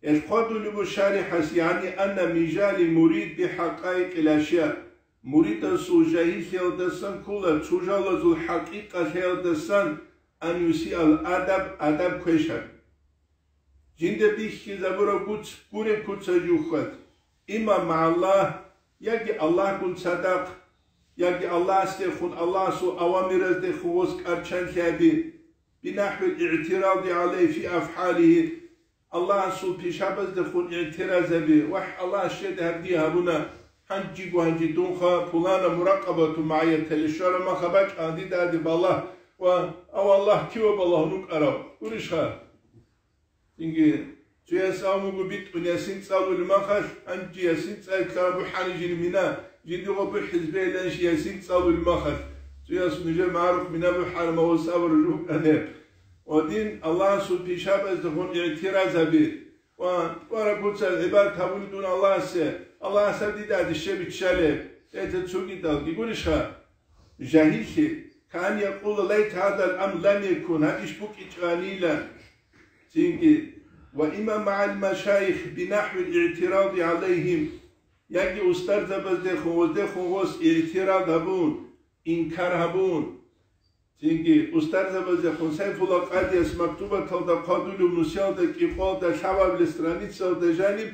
Гьел хъвадулеб бу шарихӀас, ягӀни анна мижали мурид бихӀакъаикъил ашя, муридасул жагьиллъиялдасан ккола цо жалазул хӀакъикъалъиялдасан ан юсиал адаб, адаб квешаб. Жинда бихьизабураб гуц гуреб куца жухьад, имма магӀаллагь, яги Аллагьгун цадахъ, яги Аллагьасдехун, Аллагьасул авамираздехун гъос кӀарчанлъи гьаби, бинахӀвил игӀтиради гӀалайгьи фи афгӀалигьи, Аллагьасул пишабаздехун игӀтиразаби, вахӀ, Аллагьас щед гьаб дие гьабуна, гьанжего гьанже дунха пулана муракъабату магӀияталъе щвараб маха бачӀа дида гьадиб Аллагь ва, ав Аллагь киваб Аллагьун вукӀарав, гурищха? Цинги, цояс абун буго битӀун ясин цӀалулеб махалъ, гьанже ясин цӀализе ккараб бухӀани жиндир мина, жиндирго бухӀизе бегьиланищ ясин цӀалулеб махалъ, цояс нужер магӀарухъ мина бухӀараб ва сабру жукӀанеб. Ва дин Аллагьасул пишабаздехун игӀтиразаби, ва тӀвараб куцалъ гӀибадат гьабуни дун Аллагьасе, Аллагьас гьаб дида гьадище биччалеб, гьезда цогидалги гурищха? Жагьиллъи, кан якъула лайта гьадал амр лам якун, гьаб иш букӀичӀанила. Цинги, ва имма магӀал машайих бинахӀвил игӀтиради гӀалайгьим, яги устарзабаздехун, гъоздехун гъос игӀтирад гьабун, инкар гьабун. Цинги, устарзабаздехун Сайфулла къадияс мактубаталда хъвадулев нусиялда кӀикъоялда лъабабилеб страницаялда жаниб,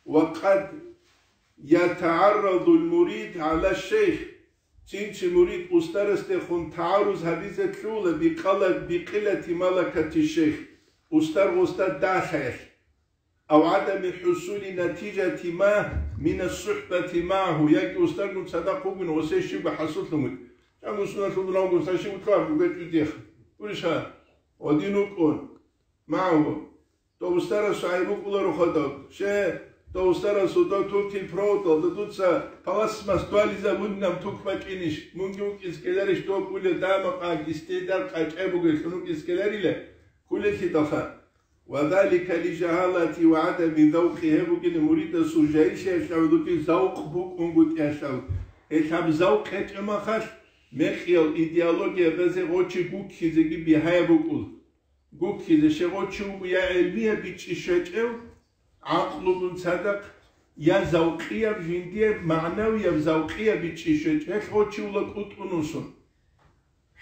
ва къад ятагӀаррадул мурид гӀала шейх, цинги мурид устарасдехун тагӀаруз гьабизе ккола бикъала-, бикъилати малакати шейх, устар гъосда дагьлъиялъ, ав гӀадами хӀусули натижати ма мина сухӀбати магӀагьу, яги устаргун цадахъ вугин гъосе щибго хӀасуллъун вугин. Чамго суналъул дунавго сащи утлугьаб бугечӀо дихъ. Гурищха? Гъодин вукӀун. МагӀагьу. Дов устарасул гӀайиб букӀуларо хадаб. Ще, дов устарасул дов тукил проводалда дуца пластмасс дугьализабунилан тук бачӀинищ? Мунги вукӀиз ккеларищ дов кӀулел дамакъ, истидал къачӀай бугеллъун вукӀиз ккеларила? Кколелъидалха. Ва залика ли жагьалати ва гӀадами завкъи, гьеб бугин муридасул жагьиллъиялъ гьавдуги завкъ букӀунгутӀиялъ. Гьелъ гьаб завкъ гьечӀеб махалъ, мекъиял идеологиябазе гъочи гуккизеги бигьаяб букӀул. Гуккизе щай гъочи вуго я гӀелмияб бичӀчӀи щвечӀев, гӀакълугун цадахъ, я завкъияб жиндияб, магӀнавияб завкъияб бичӀчӀи щвечӀев, гьелъ гъочи вула кӀутӀун усун.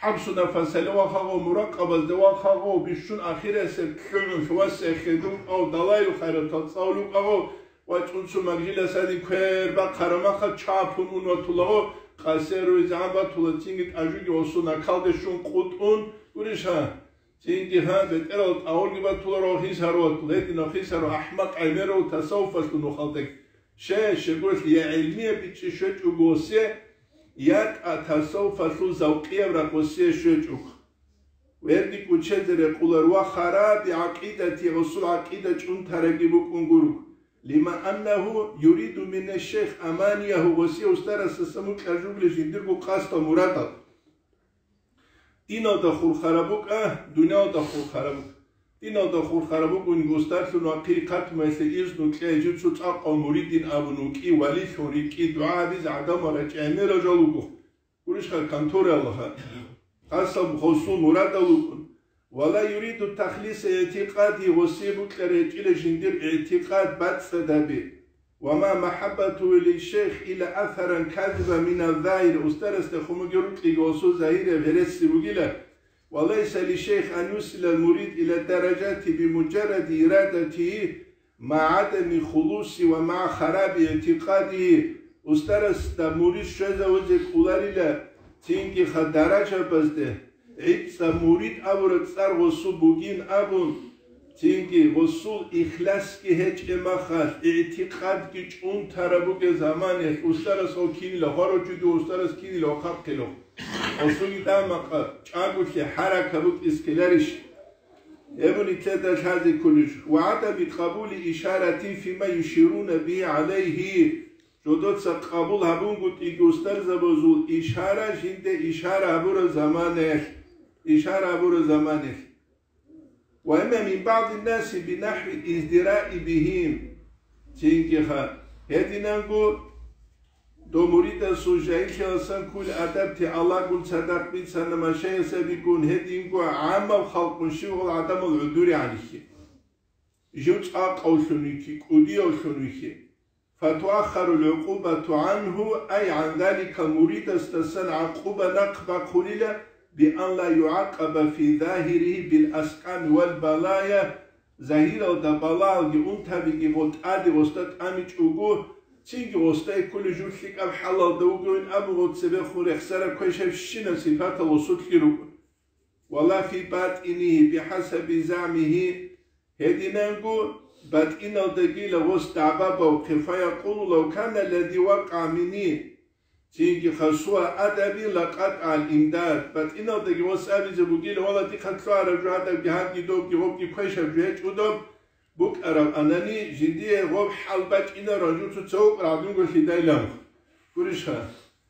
ХӀабсу нафасалде вахъа гъов, муракъабазде вахъа гъов, бищун ахирасеб лъугӀун лъугьасехе дукъав далайил хайратал цӀалулев вукӀа гъов, вачӀун цо магжилас гьадин квер бахъараб махалъ чапун ун ватула гъов, къасеруйзе гьаб батула цинги тӀажуги гъосул накалде щун къутӀун гурищха? Цинги гьаб бетӀерал тӀагъурги батула гъов хисару ватула, гьединав хисару ахӀмакъ гӀемерав тасаввуфалъул нухалдаги. Ще, щегоялъ я гӀилмияб бичӀчӀи щвечӀого гъосе, я тӀа тасаввуфалъул завкъияб ракъосе щвечӀого. Верди кӀучезе рекъолар ва хараби гӀакъидати, гъосул гӀакъида чӀунтараги букӀун гуро. Лима аннагьу юриду мина шейх аманиягьу, гъосе устарасдасан букӀаржугли жиндирго къасдал мурадал. Диналда хурхараб букӀа, дуниялда хурхараб букӀа. Диналда хурхараб букӀунги устарлъун вахъи хъатмаялъе изну кье, жив цо цӀакъав муридин абун вукӀи, валилъун рикӀкӀи, дугӀа гьабизе гӀадамал рачӀи гӀемерал жал вуго. Гурищха контора Аллагьа. Къасаб гъосул мурадал вукӀун. Ва ла юриду тахлиса игӀтикъади, гъосие букӀараб гьечӀила жиндир игӀтикъад бацӀцӀадаби. Ва ма махӀаббатугьу лишейх илла асаран казибан мина загьир, устарасда хумуги рукьиги гъосул загьирияб гьереси бугила, ва лайса лишейх ан юсила мурид ила даражати бимуджарради ирадатигьи ма гӀадами хулуси ва ма хараби игӀтикъадигьи, устарасда мурид щвезавизе кӀоларила цинги ха даражабазде, ГӀицӀа мурид абураб цӀар гъосул бугин абун, цинги гъосул ихласги гьечӀеб махалъ, игӀтикъадги чӀунтараб бугеб заманалъ устарас гъов кинила хварав чи, дов устарас кинила хъахъилев. Гъосулги дамакъа чӀаголъи хӀарака букӀиз ккеларищ? Гьеб нилъеда лъазе кколищ? Ва гӀадами къабули ишарати фима юшируна бигьи гӀалайгьи. Жодоца къабул гьабунгутӀиги устарзабазул ишара, жинде ишара гьабураб заманаялъ, ишара гьабураб заманаялъ. وأما من بعض الناس بنحو الازدراء بهم. Цинги ха, гьединанго дов муридасул жагьиллъиялдасан кколел адаб-теалагул цадахъ бицана машайихзабигун, гьединго гӀаммаб халкъун щивгьал гӀадамал гӀодоригӀанлъи. Жив цӀакъавлъун вихьи, кӀудиявлъун вихьи. فتؤخر العقوبة عنه، أي عن ذلك, муридасдасан гӀакъуба нахъ бахъулила, بأن لا يعاقب في ظاهره بالأسقام والبلايا, загьиралда балагьалги унтабиги гъо тӀаде гъосда тӀамичӀого, цинги гъосда кколеб жо лъикӀаб хӀалалда вугевин абун гъо цебехун рехсараб квешабщинаб сипатал гъосулъги руго. ولا في باطنه بحسب زعمه, гьединанго батӀиналдагила гъос дагӀба бавхъе, فيقول: لو كان الذي وقع مني, цинги ха, سوء أدبي لقطع الإمداد, батӀиналдаги гъос абизе бугила, валлагь, дихъа лъугьараб жо гьадабги гьадги добги гъобги квешаб жо гьечӀо доб, букӀараб анани, жиндие гъоб хӀал бачӀинаран жо цо-цо вукъараб гӀадинго лъидайилан. Гурищха?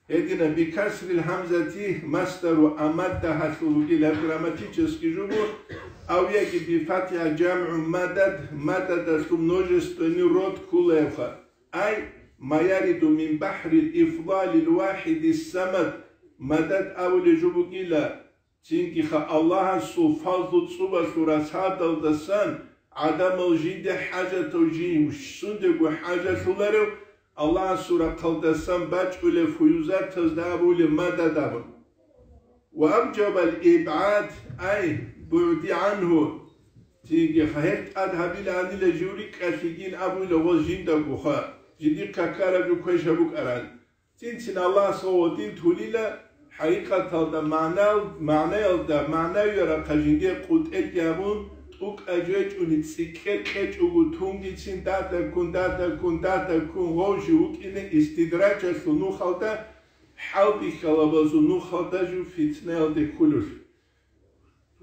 Гьедина, بكسر الهمزة مصدر أمد гьалъул вугила грамматический жо буго, ав яги بفتحها جمع مدد, мададалъул множественный род кколаевха, أي ما يرد من بحر الإفضال الواحد الصمد, мадад абулеб жо бугила, цинги ха, Аллагьасул фазлу цӀубалъул рацадалдасан гӀадамал жинде хӀажатав жин сундего хӀажалъуларев, Аллагьасул рахъалдасан бачӀулев фуюзатазда абулеб мадад абун. وأوجب الإبعاد أي بعد عنه, цинги ха, гьел тӀад гьабиланила жив рикӀкӀалъигин абула гъоз жиндагоха, жиндихъ какараб жо квешаб букӀаран. Цин-цин Аллагьас гъов гъодин тулила, хӀакъикъаталда магӀнал-, магӀнаялда, магӀнавияб рахъа жиндие къутӀеги гьабун, тӀукӀа жечӀуни цӀикӀкӀе кьечӀого тунгицин дадаккун, дадаккун, дадаккун гъов жив вукӀине истидраджалъул нухалда, хӀалбихьалабазул нухалда жив фитнаялде кколелъул.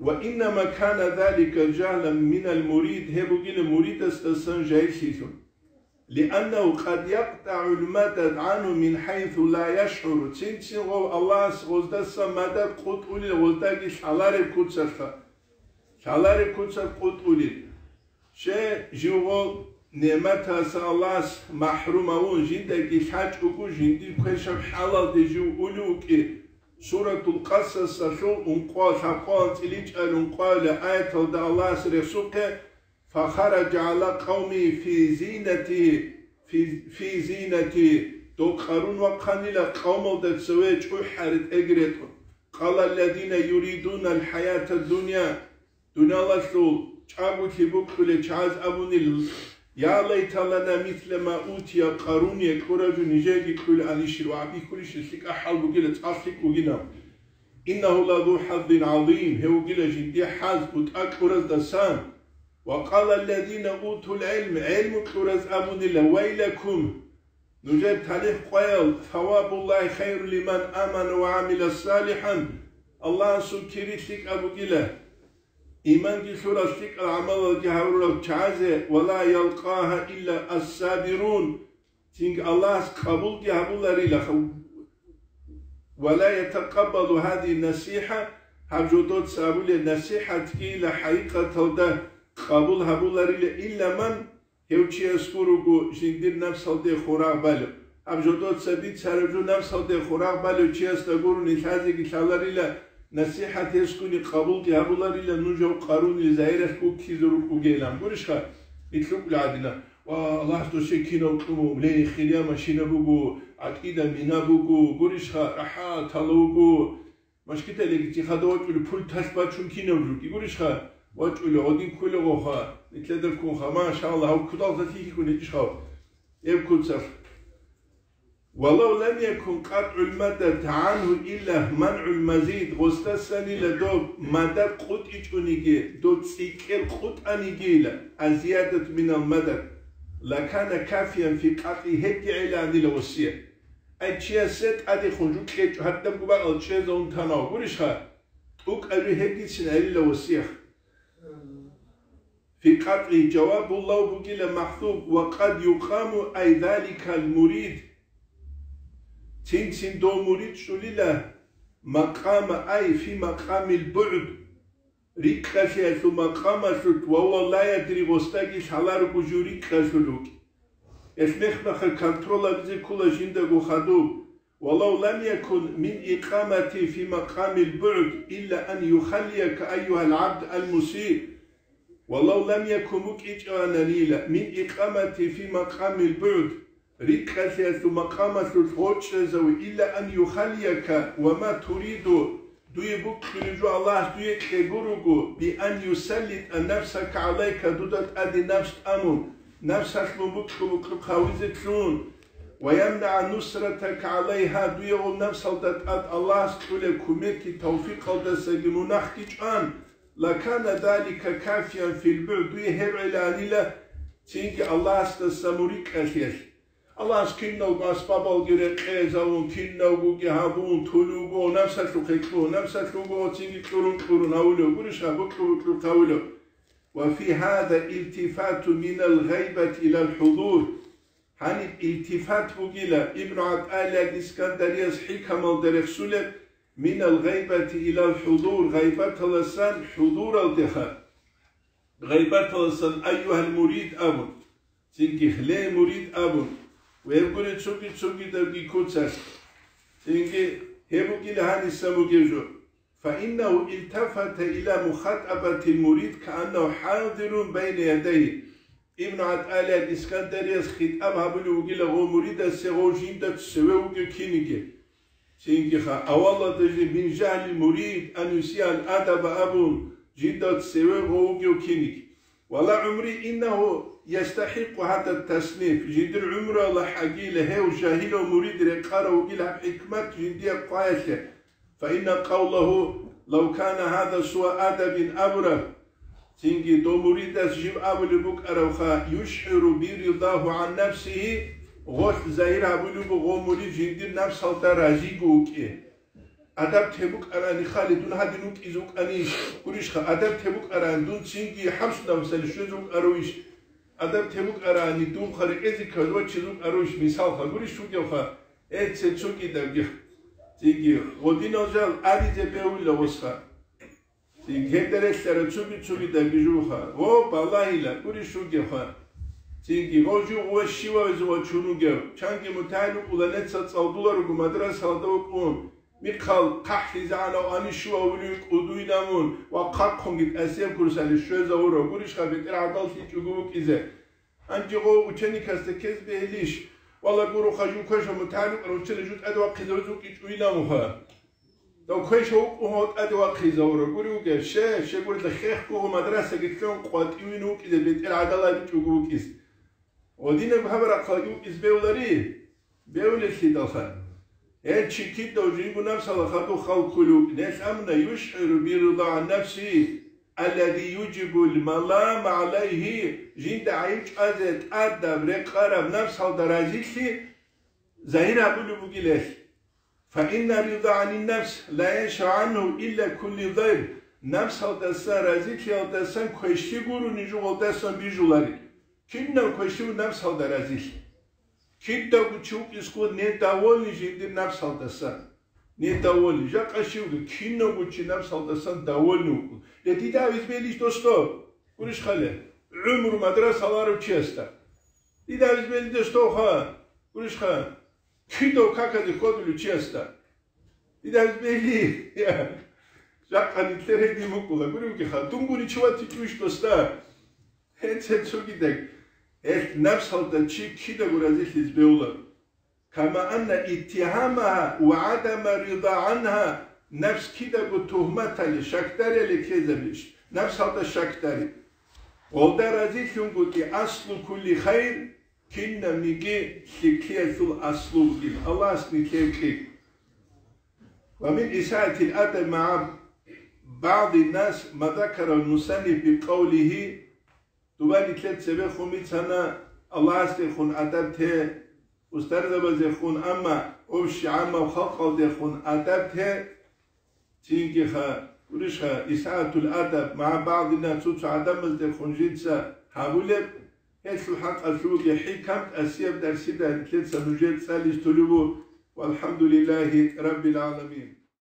وإنما كان ذلك جهلا من المريد, гьеб бугила муридасдасан жагьиллъилъун. لأنه قد يقطع المدد عنه من حيث لا يشعر, цин-цин гъов Аллагьас гъоздасан мадад къутӀулел гъоздаги лъалареб куцалъа, лъалареб куцалъ къутӀулел. Щай, живго нигӀматалъа Аллагьас махӀрум гьавун, жиндаги лъачӀого, жиндир квешаб хӀалалде жив улев вукӀи, Суратул Къасасалъул ункъо-, лъабкъоялда цӀиличӀел ункъоялда аяталда Аллагьас рехсухъе: فخرج على قومه في زينته, في, في زينته, дов Къарун вахъанила къавмалда цеве чӀухӀари тӀеги ретӀун. قال الذين يريدون الحياة الدنيا, дуниялалъул чӀаголъи букӀулел чагӀаз абунил: يا ليت لنا مثل ما أوتي قارون, кьураб жо нижееги кьулаанищин ва гьабихьулищин, лъикӀа хӀал бугила, цӀакъ лъикӀ бугинав. إنه لذو حظ عظيم, гьев вугила жиндие хӀаз, бутӀа кьураздасан. وقال الذين أوتوا العلم, гӀелму кьураз абунила: ويلكم, нужер талихӀ къоял, ثواب الله خير لمن آمن وعمل صالحا, Аллагьасул кири лъикӀаб бугила, иманги лъурал, лъикӀал гӀамалалги гьабурал чагӀазе, ولا يلقاها إلا الصابرون, цинги Аллагьас къабулги гьабуларила, ولا يتقبل هذه النصيحة, гьаб жодоца абулеб насихӀатгийила хӀакъикъаталда къабул гьабуларила إلا من, гьев чияс гуруго жиндир напсалде хурагъ балев. Гьаб жодоца бицараб жо напсалде хурагъ балев чиясда гурони лъазеги лъаларила, насихӀат гьесгуни къабулги гьабуларила, нуж гьав Къарунил загьиралъ гуккизе рукӀугейилан. Гурищха, ит лъукӀула гӀадина. Ва Аллагьас досе кинав кьуна, ле, хирия машина буго, гӀакъида мина буго, гурищха, рахӀат гьала вуго. Машкиталиги цихъада вачӀули пулталъ бачун кинав жуги, гурищха, вачӀули гъодин кколегоха, нитлъеда ккунха, машалла, гьав кудалха лъихьикӀун гьечӀищха, гьеб куцалъ. ولو لم يكن قطع المدد عنه إلا منع المزيد, гъосдасанила доб мадад къутӀичӀониги, доб цӀикӀкӀел къутӀанигийила, الزيادة من المدد, لكان كافيا في قطعه, гьебги гӀеланила гъосие. Ай, чиясе тӀадехун жо кьечӀо, гьадаб губакьал чӀезавун танав, гурищха? ТӀукӀаби гьебгицин гӀелила гъосиех. في قطعه جواب لو бугила махӀзуф, وقد يقام أي ذلك المريد. Цин-цин дов мурид чӀулила макъама, أي في مقام البعد. рикӀкӀалъиялъул макъамалъулъ, ва ва ла ядри, гъосдаги лъаларого жив рикӀкӀалъулев вукӀин. Гьелъ мехмаха контроль гьабизе ккола жиндаго хадуб. Валав лам якун мин икъамати фи макъамил бугӀд илла ан юхаллияка, айюгьал гӀабд ал-мусиъ. Валав лам якун, букӀинчӀевананила, мин икъамати фи макъамил бугӀд, рикӀкӀалъиялъул макъамалъулъ гъоркьчӀезаве, илла ан юхаллияка ва ма туриду, дуе букьулеб жо Аллагьас дуе кьеги руго, би ан юсаллитӀа нафсака гӀалайка, дуда тӀаде нафс тӀамун, нафсалъ мун букьу-букьухъ гьавизе лъун, ва ямнагӀа нусратака гӀалайгьа, дуе гъоб нафсалда тӀад Аллагьас кьулеб кумекги тавфикъалдасаги мунагьги чӀван, лакана залика кафиян фил бугӀд, дуе гьеб гӀеланила цинги Аллагьасдаса мун рикӀкӀалъиялъ. Аллагьас киналго асбабалги рекъезавун, киналгоги гьабун, тулуго, нафсалъухъе кьун, нафсалъуго цинги кьурун-кьурун гьавулев, гурищ гьаб букьу-букьухъ гьавулев. Ва фи гьаза илтифату минал гъайбати илал хӀузур. Гьаниб илтифат бугила Ибну ГӀатӀаиллагь Искандарияс хӀикамалда рехсулеб, минал гъайбати илал хӀузур, гъайбаталасан хӀузуралдеха. Гъайбаталасан айюгьал мурид абун, цинги ле мурид абун, ва гьеб гури цоги-цогидабги куцалъ. Цинги гьеб бугила гьаниса бугеб жо. Фаиннагьу илтафата иля мухатӀабатил мурид кааннагьу хӀазирун байна ядайгьи. Ибну ГӀатӀаиллагь Искандарияс хитӀаб гьабулев вугила гъов муридасе, гъов жинда цеве вугев киниги. Цинги ха, авалалда жи мин жагьлил мурид ан юсиал адаба абун, жинда цеве гъов вугев киниги. Вала гӀумри иннагьу ястахӀикъу гьада тасниф, жиндир гӀумруялда хӀагила гьев жагьилав мурид рекъарав вугила гьаб хӀикмат жиндие хъваялъе. Фаинна къавлагьу, лав кана гьаза суа адабин абураб, цинги дов муридас жив абулеб букӀаравха, юшгӀиру би ридагьу гӀан нафсигьи, гъолъ загьир гьабулеб буго гъов мурид жиндир нафсалда разиго вукӀин. Адаб те букӀарани, хали дун гьадин вукӀизе вукӀанищ? Гурищха, адаб те букӀарани, дун цинги хӀабсу нафсалъ щвезе вукӀаравищ? Адаб те букӀарани, дун хъарикъезе кколев вачизе вукӀаравищ? Мисалха, гурищ вугевха, Э, цецогидабги, цинги гъодинал жал аризе бегьула гъосха. Цинги гьелда релълъараб цоги-цогидабги жуха. Гъо, балагьила, гурищ вугевха. Цинги гъо жугъ ва щивавизе вачун вугев. Чанги мутагӀил вукӀула, нецал цӀалдуларуго мадрасалда вукӀун. Михъал хъахӀлъизегӀанав анищував вули кӀудуй намун ва хъахъунги тӀасеб курсалъе щвезавурав. Гурищха, бетӀер гӀадал лъичӀого вукӀизе. Гьанже гъов ученикасда ккезе бегьилищ? Вала, гуроха, жив квешав мутагӀалим вукӀарав ученик жив тӀаде вахъизавизе вукӀинчӀо вилан вуха. Дов квешав вукӀун гьав тӀаде вахъизавурав гури вугев? Ще, щегурелъа хехго гъов мадрасаги лъун къватӀивин вукӀизе бетӀер гӀадал абичӀого вукӀиз. Гъодинаб гьаб рахъалги вукӀиз бевлари? Бевлелъидалха. Гьел чи кидав жинго нафсала хадуб хал кколев вукӀин, гьелъ амма юшгӀиру биррида гӀан нафсигьи, аллади южибул малама гӀалайгьи, жинда гӀайиб чӀвазе тӀадаб рекъараб нафсалда разилъи загьир гьабулеб бугила гьелъ. Фаинна рида гӀанин нафс ла яншау гӀангьу илла кулли дайр, нафсалдасан разилъиялдасан квешлъи гурони жугъалдасан бижуларел. Кинав квешлъи гуро нафсалда разилъи? Кидаго чи вукӀизе ккола недовольный жиндир нафсалдасан. Недовольный. Жакъа щивги, кинавго чи нафсалдасан довольный вукӀун. Гье, дида гьабиз бегьилищ, досдо? Гурищ хъале. ГӀумру мадраса ларав чиясда. Дида гьабиз бегьилищ, досдо, ха? Гурищ ха? Кидав какаде ккодулев чиясда. Дида гьабиз бегьи. Жакъа нилъер гьедин букӀула. Гуревги ха? Дунгуни чи ватичӀищ, досда? Гье, цецогидаг, гьелъ нафсалда чи кидаго разилъизе бегьула. Кама анна иттигьамагьа ва гӀадама рида гӀангьа, нафс кидаго тугьматали, щакдарали ккезабищ, нафсалда щакдари. Гъолда разилъунгутӀи аслу кулли хайр, кинабниги лъикӀлъиялъул аслу бугин. Аллагьас нилъее кье. Ва мин исаатил адаб магӀа багӀди нас ма закарал мусанниф бикъавлигьи, Дуба нилъер цебехун бицана Аллагьасдехун адаб те, устарзабазехун, амма общий гӀаммаб халкъалдехун адаб те, цинги ха, гурищха, исаатул адаб магӀа багӀдина, цо-цо гӀадамаздехун жинца гьабулеб, гьелъул хӀакъалъулги хӀикам тӀасияб дарсида нилъеца нужер цӀализ толебу, валхӀамдулиллагьи раббил гӀаламин.